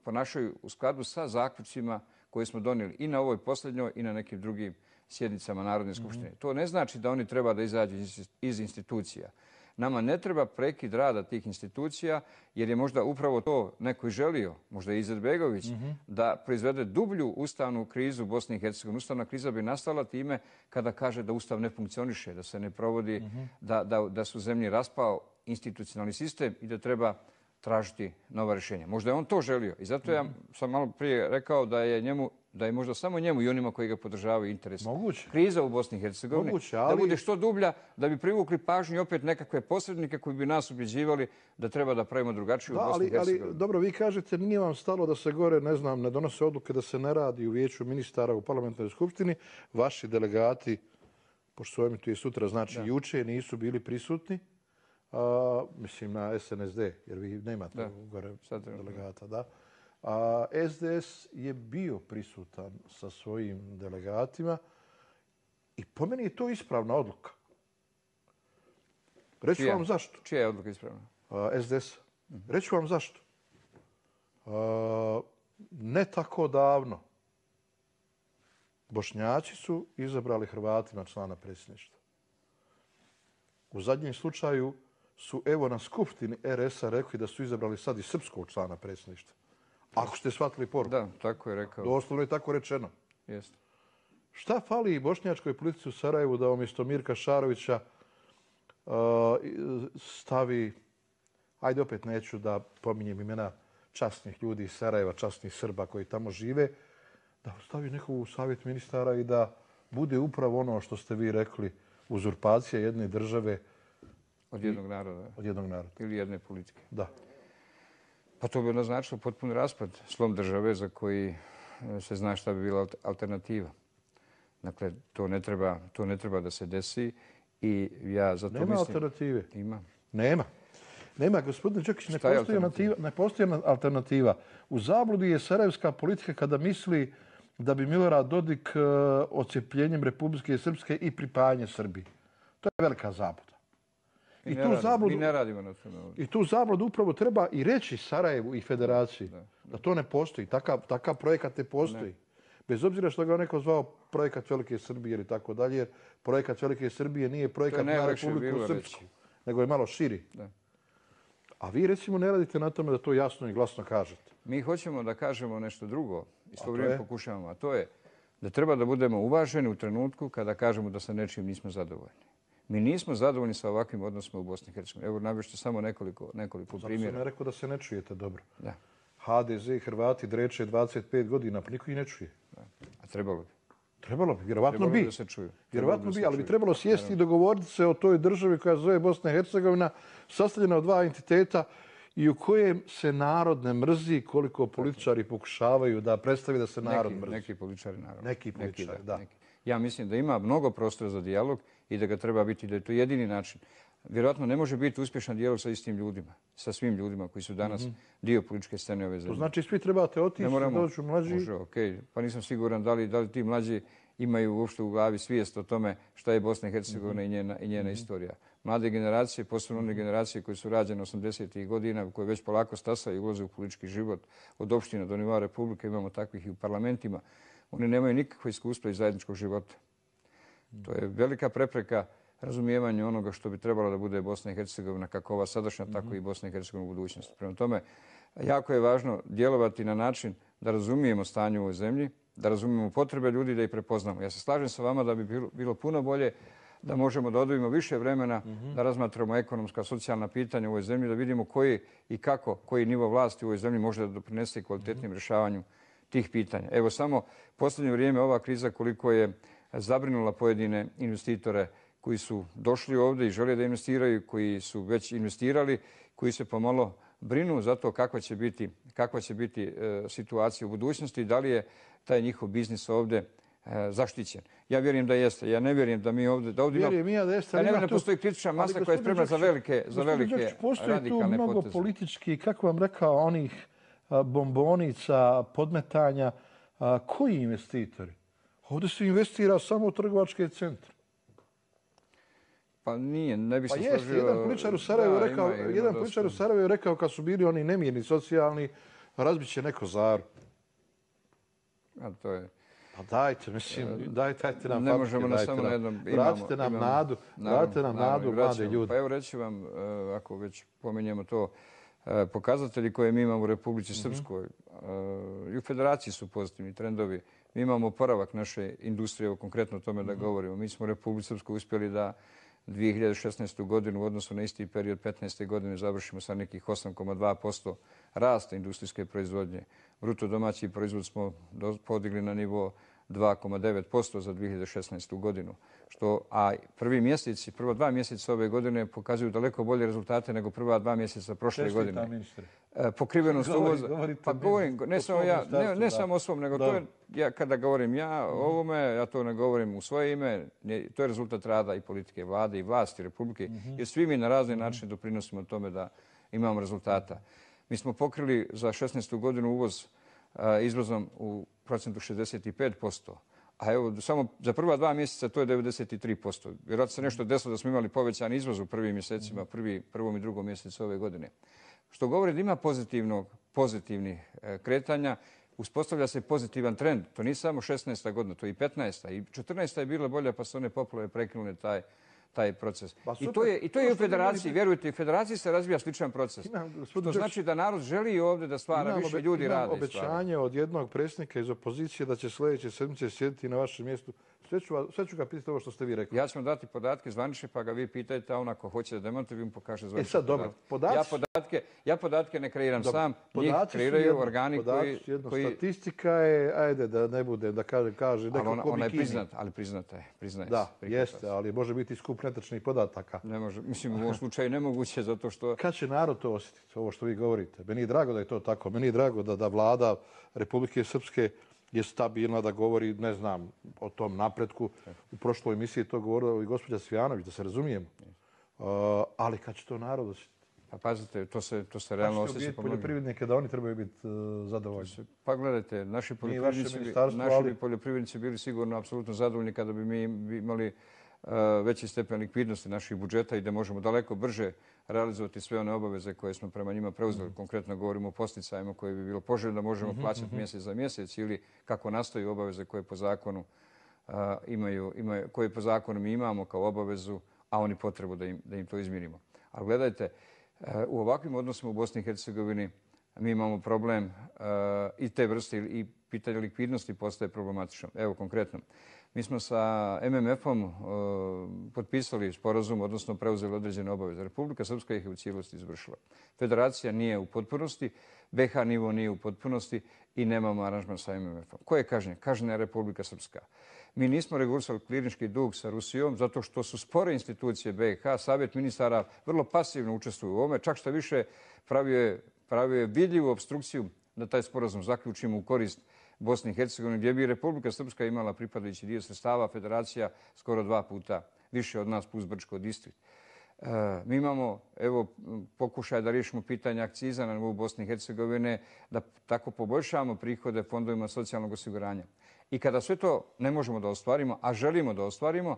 ponašaju u skladu sa zaključcima koje smo donijeli i na ovoj posljednjoj i na nekim drugim sjednicama Narodne skupštine. To ne znači da oni treba da izađu iz institucija. Nama ne treba prekid rada tih institucija jer je možda upravo to neko i želio, možda i Izetbegović, da proizvede dublju ustavnu krizu Bosne i Hercegovine. Ustavna kriza bi nastala time kada kaže da Ustav ne funkcioniše, da se ne provodi, da su zemlji raspao institucionalni sistem i da treba tražiti nova rješenja. Možda je on to želio i zato ja sam malo prije rekao da je možda samo njemu i onima koji ga podržavaju interes. Kriza u Bosni i Hercegovini da bude što dublja, da bi privukli pažnju i opet nekakve posrednike koji bi nas ubjeđivali da treba da pravimo drugačiju u Bosni i Hercegovini. Ali dobro, vi kažete nije vam stalo da se gore, ne znam, ne donose odluke da se ne radi u vijeću ministara u parlamentarnoj skupštini. Vaši delegati, pošto su ovim tu i sutra, znači juče nisu bili prisutni. Mislim na SNSD, jer vi nemate gore delegata, da. SDS je bio prisutan sa svojim delegatima I po meni je to ispravna odluka. Reći ću vam zašto. Čija je odluka ispravna? SDS. Reći ću vam zašto. Ne tako davno Bošnjaci su izabrali Hrvatima člana predsjedništva. U zadnjem slučaju su evo na skupštini RS-a rekli da su izabrali sad i srpskog člana predsjedništva. Ako ste shvatili poruku. Da, tako je rekao. Doslovno je tako rečeno. Jeste. Šta fali i bošnjačkoj politici u Sarajevu da umjesto Mirka Šarovića stavi, ajde opet neću da pominjem imena časnih ljudi iz Sarajeva, časnih Srba koji tamo žive, da stavi nekog u savjet ministara i da bude upravo ono što ste vi rekli, uzurpacija jedne države od jednog naroda. Od jednog naroda. Ili jedne politike. Da. Pa to bi naznačilo potpuni raspad, slom države za koji se zna šta bi bila alternativa. Dakle, to ne treba da se desi i ja zato Nema mislim... alternative. Ima. Nema, gospodine Đakić, ne postoji alternativa. U zabludi je sarajevska politika kada misli da bi Milorad Dodik odcepljenjem Republike Srpske i pripajanje Srbiji. To je velika zabluda. Mi ne radimo na tome ovdje. I tu zabludu upravo treba i reći Sarajevu i Federaciji da to ne postoji. Takav projekat ne postoji. Bez obzira što ga neko zvao projekat Velike Srbije ili tako dalje, jer projekat Velike Srbije nije projekat na Republiku Srpsku, nego je malo širi. A vi recimo ne radite na tome da to jasno i glasno kažete. Mi hoćemo da kažemo nešto drugo i svo vrijeme pokušavamo, a to je da treba da budemo uvaženi u trenutku kada kažemo da sa nečim nismo zadovoljni. Mi nismo zadovoljni sa ovakvim odnosima u Bosni i Hercegovini. Evo, navešću samo nekoliko primjera. Zato sam ne rekao da se ne čujete dobro. Da. HDZ i Hrvati dreče 25 godina, pa niko ih ne čuje. A trebalo bi. Trebalo bi, vjerovatno bi. Da se čuju. Vjerovatno bi, ali bi trebalo sjesti i dogovoriti se o toj državi koja se zove Bosna i Hercegovina, sastavljena od dva entiteta i u kojem se narod ne mrzi koliko političari pokušavaju da predstavi da se narod mrzi. Neki političari, naravno. Neki političari, da. Ja mislim da ima mnogo prostora za dijalog i da ga treba biti, da je to jedini način. Vjerojatno ne može biti uspješan dijalog sa istim ljudima, sa svim ljudima koji su danas dio političke scene ove zemlje. To znači svi trebate otići, dođu mlađi. Može, okej. Pa nisam siguran da li ti mlađi imaju uopšte u glavi svijest o tome šta je Bosna i Hercegovina i njena istorija. Mlade generacije, posebno one generacije koje su rađene 80-ih godina, koje već polako stasaju i ulaze u politički život od opština do nivoa Republike, imamo takvih i u parlamentima, oni nemaju nikakvo iskustvo iz zajedničkog života. To je velika prepreka razumijevanju onoga što bi trebalo da bude Bosna i Hercegovina, kako ova sadašnja, tako i Bosna i Hercegovina u budućnosti. Prema tome, jako je važno djelovati na način da razumijemo stanje u ovoj zemlji, da razumijemo potrebe ljudi, da ih prepoznamo. Ja se slažem sa vama da bi bilo puno bolje da možemo da odvojimo više vremena, da razmatramo ekonomska, socijalna pitanja u ovoj zemlji, da vidimo koji i kako, koji nivo vlasti u ovoj zemlji može da doprinese kvalitetnim rješavanju tih pitanja. Evo samo posljednje vrijeme ova kriza koliko je zabrinula pojedine investitore koji su došli ovdje i žele da investiraju, koji su već investirali, koji se pomalo brinu za to kakva će biti situacija u budućnosti i da li je taj njihov biznis ovdje zaštićen. Ja vjerujem da jeste. Ja ne vjerujem da mi ovdje... Vjerujem ja da jeste. Ja ne vjerujem da postoji kritična masa koja je spremna za velike radikalne poteze. Postoji tu mnogo politički, kako vam rekao, onih bombonica, podmetanja. Koji investitori? Ovdje se investira samo u trgovačke centre. Pa nije, ne bi se složio... Pa jeste, jedan političar u Sarajevu je rekao kad su bili oni nemirni, socijalni, razbit će neko Zaru. A to je... Pa dajte, mislim, dajte nam ne možemo samo na jednom... Vratite nam nadu, mlade ljude. Pa evo reći vam, ako već pominjemo to, pokazatelji koje mi imamo u Republici Srpskoj i u Federaciji su pozitivni trendovi. Mi imamo oporavak naše industrije, konkretno o tome da govorimo. Mi smo u Republici Srpskoj uspjeli da 2016. godinu u odnosu na isti period 15. godine završimo sa nekih 8,2% rasta industrijske proizvodnje. Bruto domaći proizvod smo podigli na nivo 2,9% za 2016. godinu. A prva 2 mjeseca ove godine pokazuju daleko bolje rezultate nego prva 2 mjeseca prošle godine. Čestitam, ministre. Pokrivenost uvoza. Pa govorim, ne samo o svom, nego to je, kada govorim ja o ovome, ja to ne govorim u svoje ime, to je rezultat rada i politike vlade i vlasti Republike, jer svi mi na razne načine doprinosimo tome da imamo rezultata. Mi smo pokrili za 16. godinu uvoz izvozom u procentu 65%, A evo, samo za prva 2 mjeseca to je 93%. Vjerojatno se nešto desilo da smo imali povećan izvoz u prvim mjesecima, prvom i drugom mjesecu ove godine. Što govori da ima pozitivnih kretanja, uspostavlja se pozitivan trend. To nije samo 16. godina, to je i 15. I 14. je bila bolja pa su one poplave prekinule taj proces. I to je u federaciji, vjerujte, u federaciji se razvija sličan proces. Što znači da narod želi ovdje da stvara više ljudi rade. Imam obećanje od jednog predsjednika iz opozicije da će sljedeće sedmice sjediti na vašem mjestu. Sve ću ga pitati ovo što ste vi rekli. Ja ću vam dati podatke zvanične pa ga vi pitajte, a on ako hoće da demantuje, vi mu pokaže zvanične sad, dobro, Ja podatke ne kreiram sam, njih kreiraju organi koji... Statistika je, ajde da ne bude, da kaže neko ko ona je priznata, ali priznata je. Da, jeste, ali može biti skup netačnih podataka. Ne može, mislim u ovom slučaju nemoguće zato što... Kad će narod to osjetiti, ovo što vi govorite? Meni je drago da je to tako, meni je drago da vlada Republike Srpske je stabilna, da govori, ne znam, o tom napretku. U prošloj emisiji to govorila i gospođa Cvijanović, da se razumijemo. Ali kad će to narod osjetiti? Pa pazite, to se realno osjeća. Ćete poljoprivrednike da oni trebaju biti zadovoljni? Pa gledajte, naši poljoprivrednici bili sigurno apsolutno zadovoljni kada bi mi imali veći stepen likvidnosti naših budžeta i da možemo daleko brže realizovati sve one obaveze koje smo prema njima preuzeli. Konkretno govorimo o posticajima koje bi bilo poželjno da možemo plaćati mjesec za mjesec ili kako nastaju obaveze koje po zakonu koje po zakonu mi imamo kao obavezu, a oni potrebu da im to izmirimo. Ali gledajte, u ovakvim odnosima u Bosni i Hercegovini mi imamo problem i te vrste i pitanje likvidnosti postaje problematično. Evo konkretno, mi smo sa MMF-om potpisali sporazum, odnosno preuzeli određene obaveze. Republika Srpska ih je u cijelosti izvršila. Federacija nije u potpunosti, BiH nivo nije u potpunosti i nemamo aranžman sa MMF-om. Ko je kažnjen? Kažnjena je Republika Srpska. Mi nismo regulisali klinički dug sa Rusijom zato što su spore institucije BiH, Savjet ministara vrlo pasivno učestvuju u ovome, čak što više pravio je vidljivu opstrukciju da taj sporazum zaključimo u korist Bosni i Hercegovine, gdje bi Republika Srpska imala pripadajući dio sredstava, federacija skoro 2 puta više od nas plus Brčko distrikt. Mi imamo pokušaj da riješimo pitanje akciza na nivou Bosne i Hercegovine, da tako poboljšamo prihode fondovima socijalnog osiguranja. I kada sve to ne možemo da ostvarimo, a želimo da ostvarimo,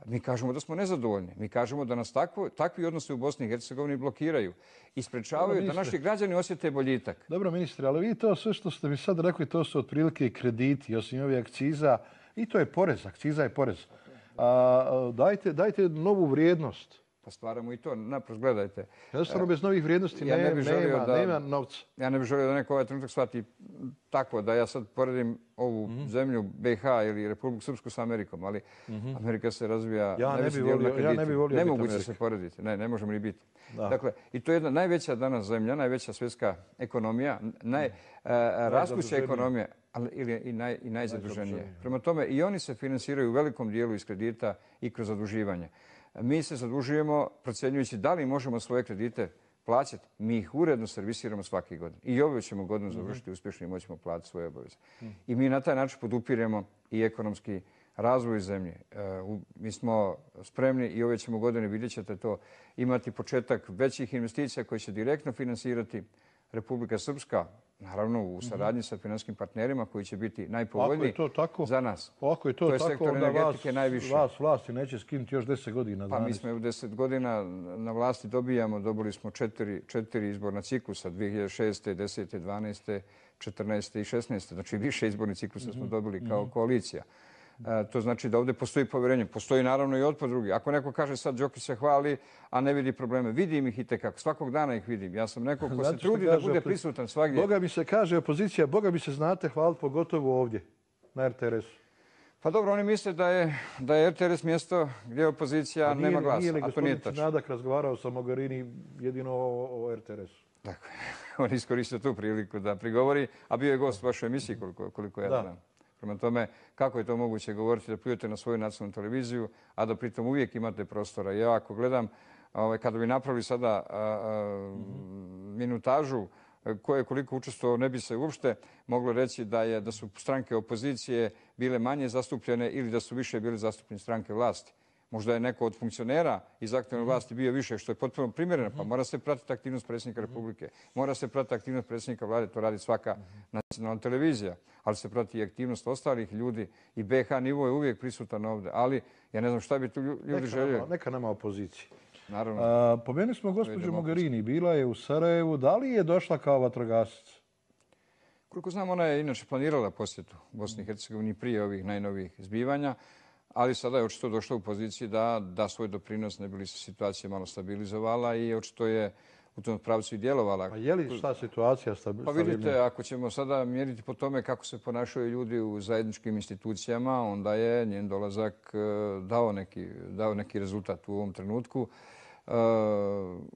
mi kažemo da smo nezadovoljni. Mi kažemo da nas takvi odnosi u Bosni i Hercegovini blokiraju i sprečavaju da naši građani osjete boljitak. Dobro, ministre, ali vi to sve što ste mi sad rekli, to su otprilike i krediti, osim ovih akciza. I to je porez, akciza je porez. Dajte novu vrijednost. Pa stvaramo i to. Naprosto gledajte. Jednostavno bez novih vrijednosti nema novca. Ja ne bih želio da neko ovaj trenutak shvati tako da ja sad poredim ovu zemlju BiH ili Republiku Srpsku sa Amerikom, ali Amerika se razvija... Ja ne bih volio nemoguće se porediti. Ne možemo ni biti. Dakle, i to je jedna najveća danas zemlja, najveća svjetska ekonomija, rastuća ekonomija, ali i najzaduženije. Prema tome, i oni se finansiraju u velikom dijelu iz kredita i kroz zaduživanje. Mi se zadužujemo procjenjujući da li možemo svoje kredite plaćati. Mi ih uredno servisiramo svake godine. I ove ćemo godinu završiti uspješno i moćemo platiti svoje obaveze. I mi na taj način podupiremo i ekonomski razvoj zemlje. Mi smo spremni i ove ćemo godine, vidjet ćete to, imati početak većih investicija koje će direktno finansirati Republika Srpska, naravno u saradnji sa finanskim partnerima koji će biti najpovoljniji za nas. Ako je to tako, onda vas vlasti neće skinuti još 10 godina. Pa mi smo u 10 godina na vlasti dobili smo 4 izborna ciklusa, 2006. 10. 12. 14. i 16. Znači više izbornih ciklusa smo dobili kao koalicija. To znači da ovdje postoji povjerenje. Postoji naravno i otpor drugi. Ako neko kaže sad Đokić se hvali, a ne vidi probleme, vidim ih i tekako. Svakog dana ih vidim. Ja sam neko ko se trudi da bude prisutan svagdje. Boga mi se kaže opozicija, Boga mi se znate hvaliti pogotovo ovdje, na RTRS-u. Pa dobro, oni misle da je RTRS mjesto gdje opozicija nema glasa, a to nije tačno. Gospodin Nadak razgovarao sa Mogherini jedino o RTRS-u. Dakle, on iskoristio tu priliku da prigovori, a bio je gost u vašoj emisiji koliko ja znam. Prema tome, kako je to moguće govoriti da pljujete na svoju nacionalnu televiziju, a da pritom uvijek imate prostora. Ja ako gledam, kada bi napravili sada minutažu ko je koliko učestvovao, ne bi se uopšte moglo reći da su stranke opozicije bile manje zastupljene ili da su više bile zastupljene stranke vlasti. Možda je neko od funkcionera iz aktualne vlasti bio više, što je potpuno primjereno, pa mora se pratiti aktivnost predsjednika Republike. Mora se pratiti aktivnost predsjednika vlade, to radi svaka nacionalna televizija, ali se prati i aktivnost ostalih ljudi i BiH nivo je uvijek prisutan ovdje. Ali ja ne znam šta bi tu ljudi željeli. Neka nama opozicije. Naravno. Pomenuli smo gospođu Mogherini, bila je u Sarajevu. Da li je došla kao vatrogasac? Koliko znam, ona je inače planirala posjetu Bosni i Hercegovini prije ovih najnovijih zbivanja, ali sada je očito došla u poziciji da da svoj doprinos, ne bi li se situacija malo stabilizovala i očito je u tom pravcu i djelovala. A je li šta situacija Pa vidite, ako ćemo sada mjeriti po tome kako se ponašaju ljudi u zajedničkim institucijama, onda je njen dolazak dao neki rezultat u ovom trenutku.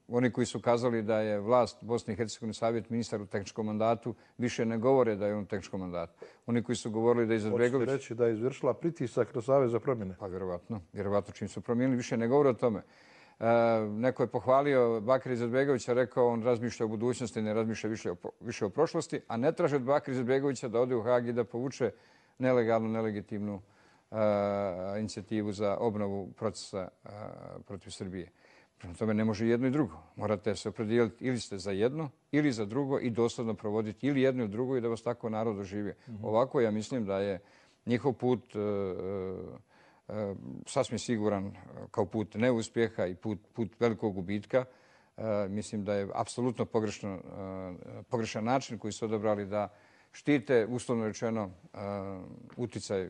Oni koji su kazali da je vlast Bosne i Hercegovine savjet ministar u tehničkom mandatu više ne govore da je on u tehničkom mandatu. Oni koji su govorili da je Izetbegović... Hoćete reći da je izvršila pritisak na Savez za promjene? Pa vjerovatno čim su promijenili više ne govore o tome. Neko je pohvalio Bakira Izetbegovića, rekao on razmišlja o budućnosti, ne razmišlja više o prošlosti, a ne traže od Bakira Izetbegovića da ode u Hag i da povuče nelegalnu, nelegitimnu inicijativu za obnovu procesa protiv Srbije. Prema tome ne može jedno i drugo. Morate se opredijeliti ili ste za jedno ili za drugo i doslovno provoditi ili jedno i drugo i da vas tako narod doživi. Ovako ja mislim da je njihov put sasvim siguran kao put neuspjeha i put velikog gubitka. Mislim da je apsolutno pogrešan način koji su odabrali da štite, uslovno rečeno,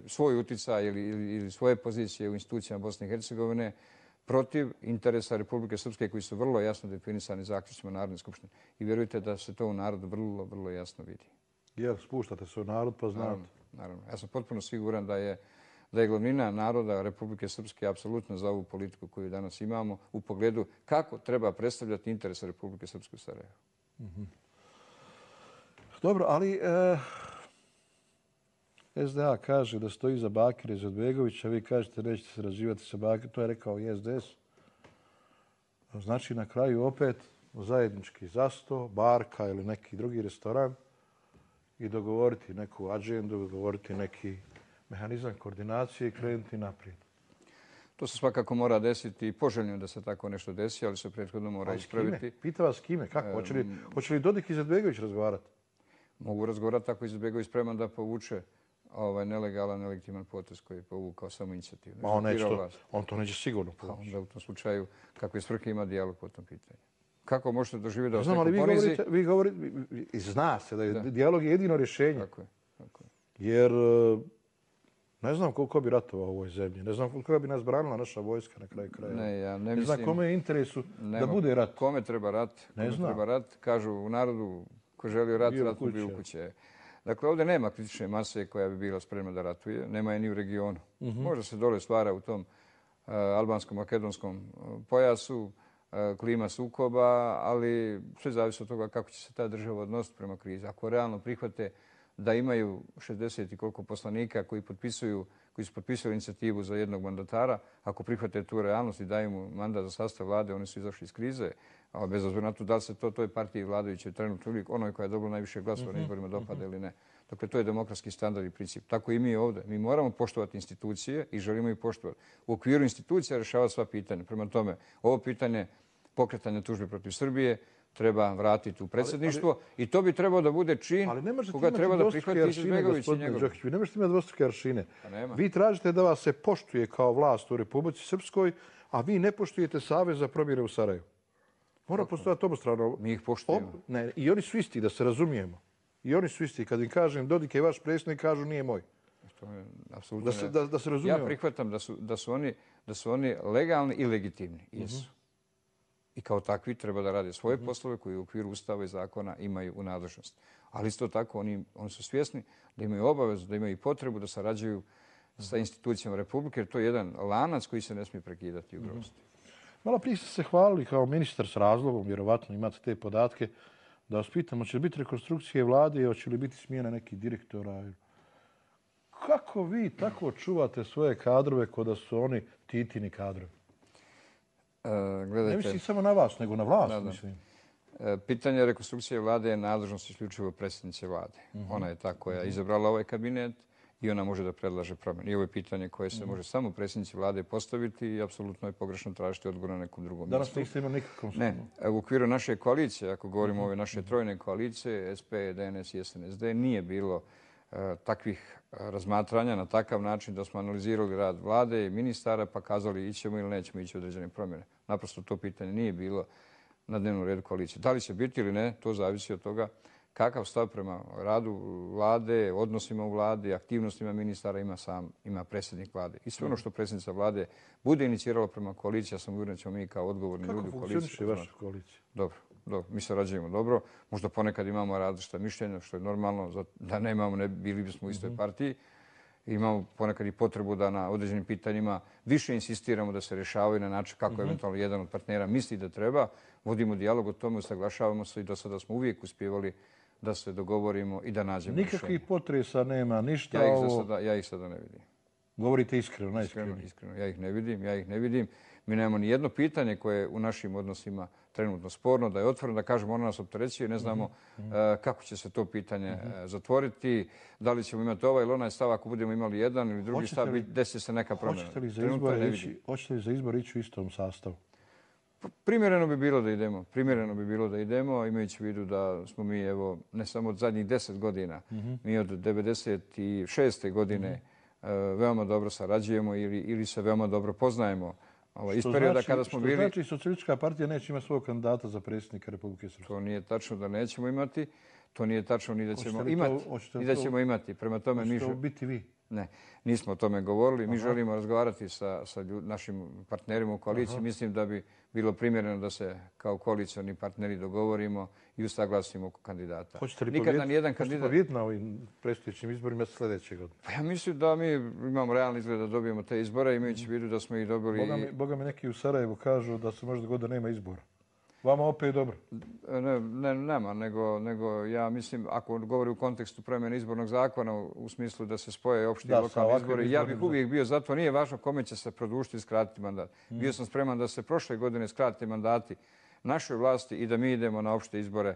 svoj uticaj ili svoje pozicije u institucijama Bosne i Hercegovine protiv interesa Republike Srpske koji su vrlo jasno definisani zaključcima Narodne skupštine. I vjerujte da se to u narodu vrlo, vrlo jasno vidi. Jer spuštate se u narod pa znate. Naravno. Ja sam potpuno siguran da je glavnina naroda Republike Srpske apsolutno za ovu politiku koju danas imamo u pogledu kako treba predstavljati interese Republike Srpske u Sarajevu. Dobro, ali SDA kaže da stoji za Bakira Izetbegovića, vi kažete nećete se razživati sa Bakirom, to je rekao i SDS. Znači na kraju opet zajednički zasto, barka ili neki drugi restoran i dogovoriti neku agendu, dogovoriti neki mehanizam koordinacije i krenuti naprijed. To se svakako mora desiti i poželjno da se tako nešto desi, ali se prethodno mora ispraviti. Pita vas kime? Kako? Hoće li Dodik i Izetbegović razgovarati? Mogu razgovarati ako je Izetbegović spreman da povuče nelegalan, nelegitiman potez koji je povukao samo inicijativu. On to neće sigurno povući. Onda u tom slučaju kakve svrhe ima dijalog po tom pitanju? Kako možete doživjeti da vas neko ponizi? Vi govorite, zna se da je dijalog jedino rješenje. Tako je. Jer ne znam koliko bi ratovao u ovoj zemlji. Ne znam koliko bi nas branila naša vojska na kraju kraja. Ne znam kome je interesu da bude rat. Kome treba rat? Kažu u narodu ko želi rat, rat mu bi u kuće. Dakle, ovdje nema kritične mase koja bi bila spremna da ratuje. Nema je ni u regionu. Možda se dole stvara u tom albansko-makedonskom pojasu, klima sukoba, ali sve zavisi od toga kako će se ta država odnositi prema krizi. Ako realno prihvate da imaju 60 i koliko poslanika koji su potpisali inicijativu za jednog mandatara, ako prihvate tu realnost i daju mu mandat za sastav vlade, oni su izašli iz krize, a bez obzira na to da li se toj partiji vladajućoj trenutno uvijek onoj koja je dobila najviše glasova na izborima dopada ili ne. Dakle, to je demokratski standard i princip. Tako i mi ovdje. Mi moramo poštovati institucije i želimo ih poštovati. U okviru institucija rješavati sva pitanja. Prema tome, ovo pitanje pokretanja tužbe protiv Srbije treba vratiti u predsjedništvo i to bi trebao da bude čin koga treba da prihvati Izetbegović i njegov. Vi ne možete imati dvostruke aršine. Pa vi tražite da vas se poštuje kao vlast u Republici Srpskoj, a vi ne poštujete Savez za promjene u Sarajevu. Mora postojati obostrano. Mi ih poštujemo. I oni su isti, da se razumijemo. I oni su isti. Kad im kažem Dodik je vaš predsjednik, kažu nije moj. Da se razumijemo. Ja prihvatam da su oni legalni i legitimni. Jesu. I kao takvi treba da rade svoje poslove koji u okviru Ustava i zakona imaju u nadležnosti. Ali isto tako oni su svjesni da imaju obavezu, da imaju potrebu da sarađuju sa institucijama Republike, jer to je jedan lanac koji se ne smije prekidati u ugrosti. Malo prije ste se hvalili kao ministar s razlogom, vjerovatno imate te podatke, da vas pitam, hoće li biti rekonstrukcije vlade i hoće li biti smjena nekih direktora? Kako vi tako čuvate svoje kadrove kao da su oni Titini kadrovi? Ne mislim samo na vas, nego na vlast, mislim. Pitanje rekonstrukcije vlade je nadležnost isključivo predsjednice vlade. Ona je ta koja je izabrala ovaj kabinet i ona može da predlaže promjene. I ovo je pitanje koje se može samo predsjednici vlade postaviti i apsolutno je pogrešno tražiti odgovor na nekom drugom mjestu. Danas niste imali nikakvom Ne, u okviru naše koalicije, ako govorimo o ove naše trojne koalicije, SP, DNS i SNSD, nije bilo takvih razmatranja na takav način da smo analizirali rad vlade i ministara pa kazali ićemo ili nećemo ići u određene promjene. Naprosto to pitanje nije bilo na dnevnom redu koalicije. Da li će biti ili ne, to zavisi od toga kakav stav prema radu vlade, odnosima u vladi, aktivnostima ministara ima predsjednik vlade. I sve ono što predsjednica vlade bude inicirala prema koaliciji, ja sam uvjeren da ćemo mi kao odgovorni ljudi u koaliciji. Kako funkcioniše vaša koalicija? Dobro, mi sarađujemo dobro. Možda ponekad imamo različita mišljenja, što je normalno. Da nemamo, ne bili bismo u istoj partiji. Imamo ponekad i potrebu da na određenim pitanjima više insistiramo da se rješavaju na način kako eventualno jedan od partnera misli da treba. Vodimo dijalog o tome, usaglašavamo se i do sada smo uvijek uspjevali da se dogovorimo i da nađemo rješenje. Nikakvih potresa nema, ništa Ja ih sada ne vidim. Govorite iskreno, najiskrenije. Iskreno, ja ih ne vidim. Mi nemamo ni jedno pitanje koje je u našim odnosima trenutno sporno, da je otvoreno, da kažemo ono nas opterećuje, ne znamo kako će se to pitanje zatvoriti, da li ćemo imati ovaj ili onaj stav, ako budemo imali jedan ili drugi stav, desi se neka promjena. Hoćete li za izbor ići u istom sastavu? Primjereno bi bilo da idemo, imajući u vidu da smo mi, evo, ne samo od zadnjih 10 godina, mi od 96. godine veoma dobro sarađujemo ili se veoma dobro poznajemo. Iz perioda kada smo bili... Što znači Socijalistička partija neće imati svog kandidata za predsjednika Republike Srpske? To nije tačno da nećemo imati. To nije tačno ni da ćemo imati. Prema tome mi... Hoćete biti vi? Ne, nismo o tome govorili. Mi želimo razgovarati sa našim partnerima u koaliciji. Mislim da bi bilo primjereno da se kao koalicioni partneri dogovorimo i usaglasimo oko kandidata. Hoćete li pobijediti na ovim predstojećim izborima sljedeće godine? Pa ja mislim da mi imamo realni izgled da dobijemo te izbore, imajući u vidu da smo ih dobili... Boga mi neki u Sarajevu kažu da se možda godina nema izbora. Vama opet dobro? Nema, nego ja mislim, ako govori u kontekstu promjene izbornog zakona, u smislu da se spoje opšti i lokalni izbori, ja bih uvijek bio za to. Nije važno kome će se produžiti i skratiti mandat. Bio sam spreman da se prošle godine skrate mandati našoj vlasti i da mi idemo na opšte izbore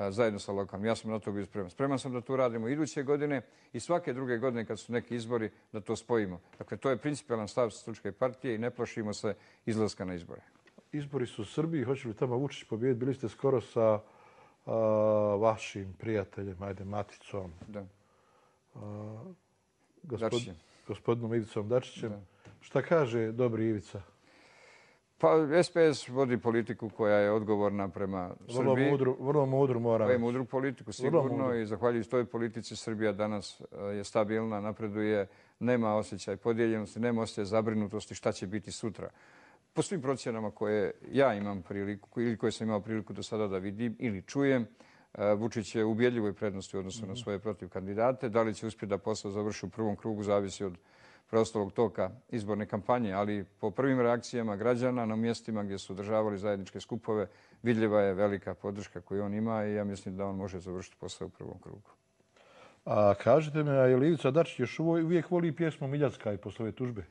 zajedno sa lokalnim. Ja sam na to bio spreman. Spreman sam da to radimo iduće godine i svake druge godine kad su neki izbori da to spojimo. Dakle, to je principijalan stav Socijalističke partije i ne plašimo se izlaska na izbore. Izbori su u Srbiji, hoće li tamo Vučić pobijediti? Bili ste skoro sa vašim prijateljem, Maticom, gospodinom Ivicom Dačićem. Šta kaže dobri Ivica? Pa SPS vodi politiku koja je odgovorna prema Srbiji. Vrlo mudru mora. Je mudru politiku sigurno i zahvaljujući toj politici Srbija danas je stabilna, napreduje, nema osjećaj podijeljenosti, nema osjećaj zabrinutosti šta će biti sutra. Po svim procjenama koje ja imam priliku ili koje sam imao priliku do sada da vidim ili čujem, Vučić je u ubjedljivoj prednosti u odnosu na svoje protiv kandidate. Da li će uspjeti da posao završi u prvom krugu zavisi od preostalog toka izborne kampanje, ali po prvim reakcijama građana na mjestima gdje su održavali zajedničke skupove vidljiva je velika podrška koju on ima i ja mislim da on može završiti posao u prvom krugu. A kažete mi, je li Ivica Dačić još uvijek voli pjesmu Miljacka i posle ove tužbe?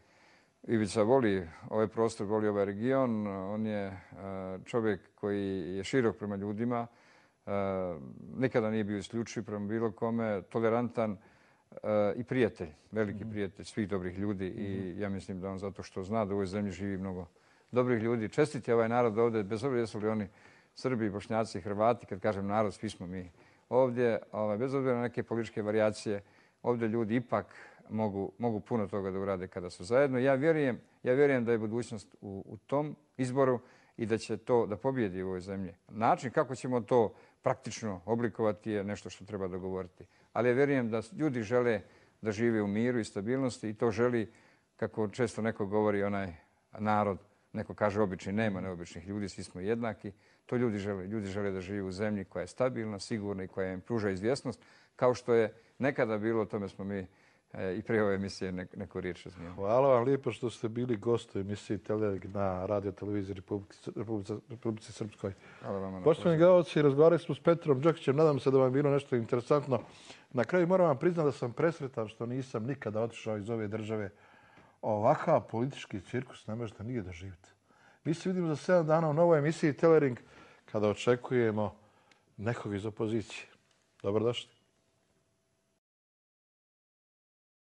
Ivica voli ovaj prostor, voli ovaj region. On je čovjek koji je širok prema ljudima. Nikada nije bio isključiv prema bilo kome, tolerantan i prijatelj, veliki prijatelj svih dobrih ljudi i ja mislim da on zato što zna da u ovoj zemlji živi mnogo dobrih ljudi. Čestit je ovaj narod ovdje, bez obzira jesu li oni Srbi, Bošnjaci, Hrvati, kad kažem narod, svi smo mi ovdje, bez obzira na neke političke varijacije, ovdje ljudi ipak mogu puno toga da urade kada su zajedno. Ja vjerujem da je budućnost u tom izboru i da će to da pobjedi u ovoj zemlji. Način kako ćemo to praktično oblikovati je nešto što treba dogovoriti. Ali ja vjerujem da ljudi žele da žive u miru i stabilnosti i to želi, kako često neko govori, onaj narod, neko kaže obični, nema neobičnih ljudi, svi smo jednaki. To ljudi žele. Ljudi žele da žive u zemlji koja je stabilna, sigurna i koja im pruža izvjesnost, kao što je nekada bilo, o tome smo mi i prije ove emisije neku riječ razmijenili. Hvala vam lijepo što ste bili gost u emisiji Telerik na radio televiziji Republici Srpskoj. Hvala vam. Poštovani gledalci, razgovarali smo s Petrom Đokićem. Nadam se da vam je bilo nešto interesantno. Na kraju moram vam priznati da sam presretan što nisam nikada otišao iz ove države. Ovakav politički cirkus ne možete nigdje doživjeti. Mi se vidimo za 7 dana u novoj emisiji Telering kada očekujemo nekog iz opozicije. Dobrodošli.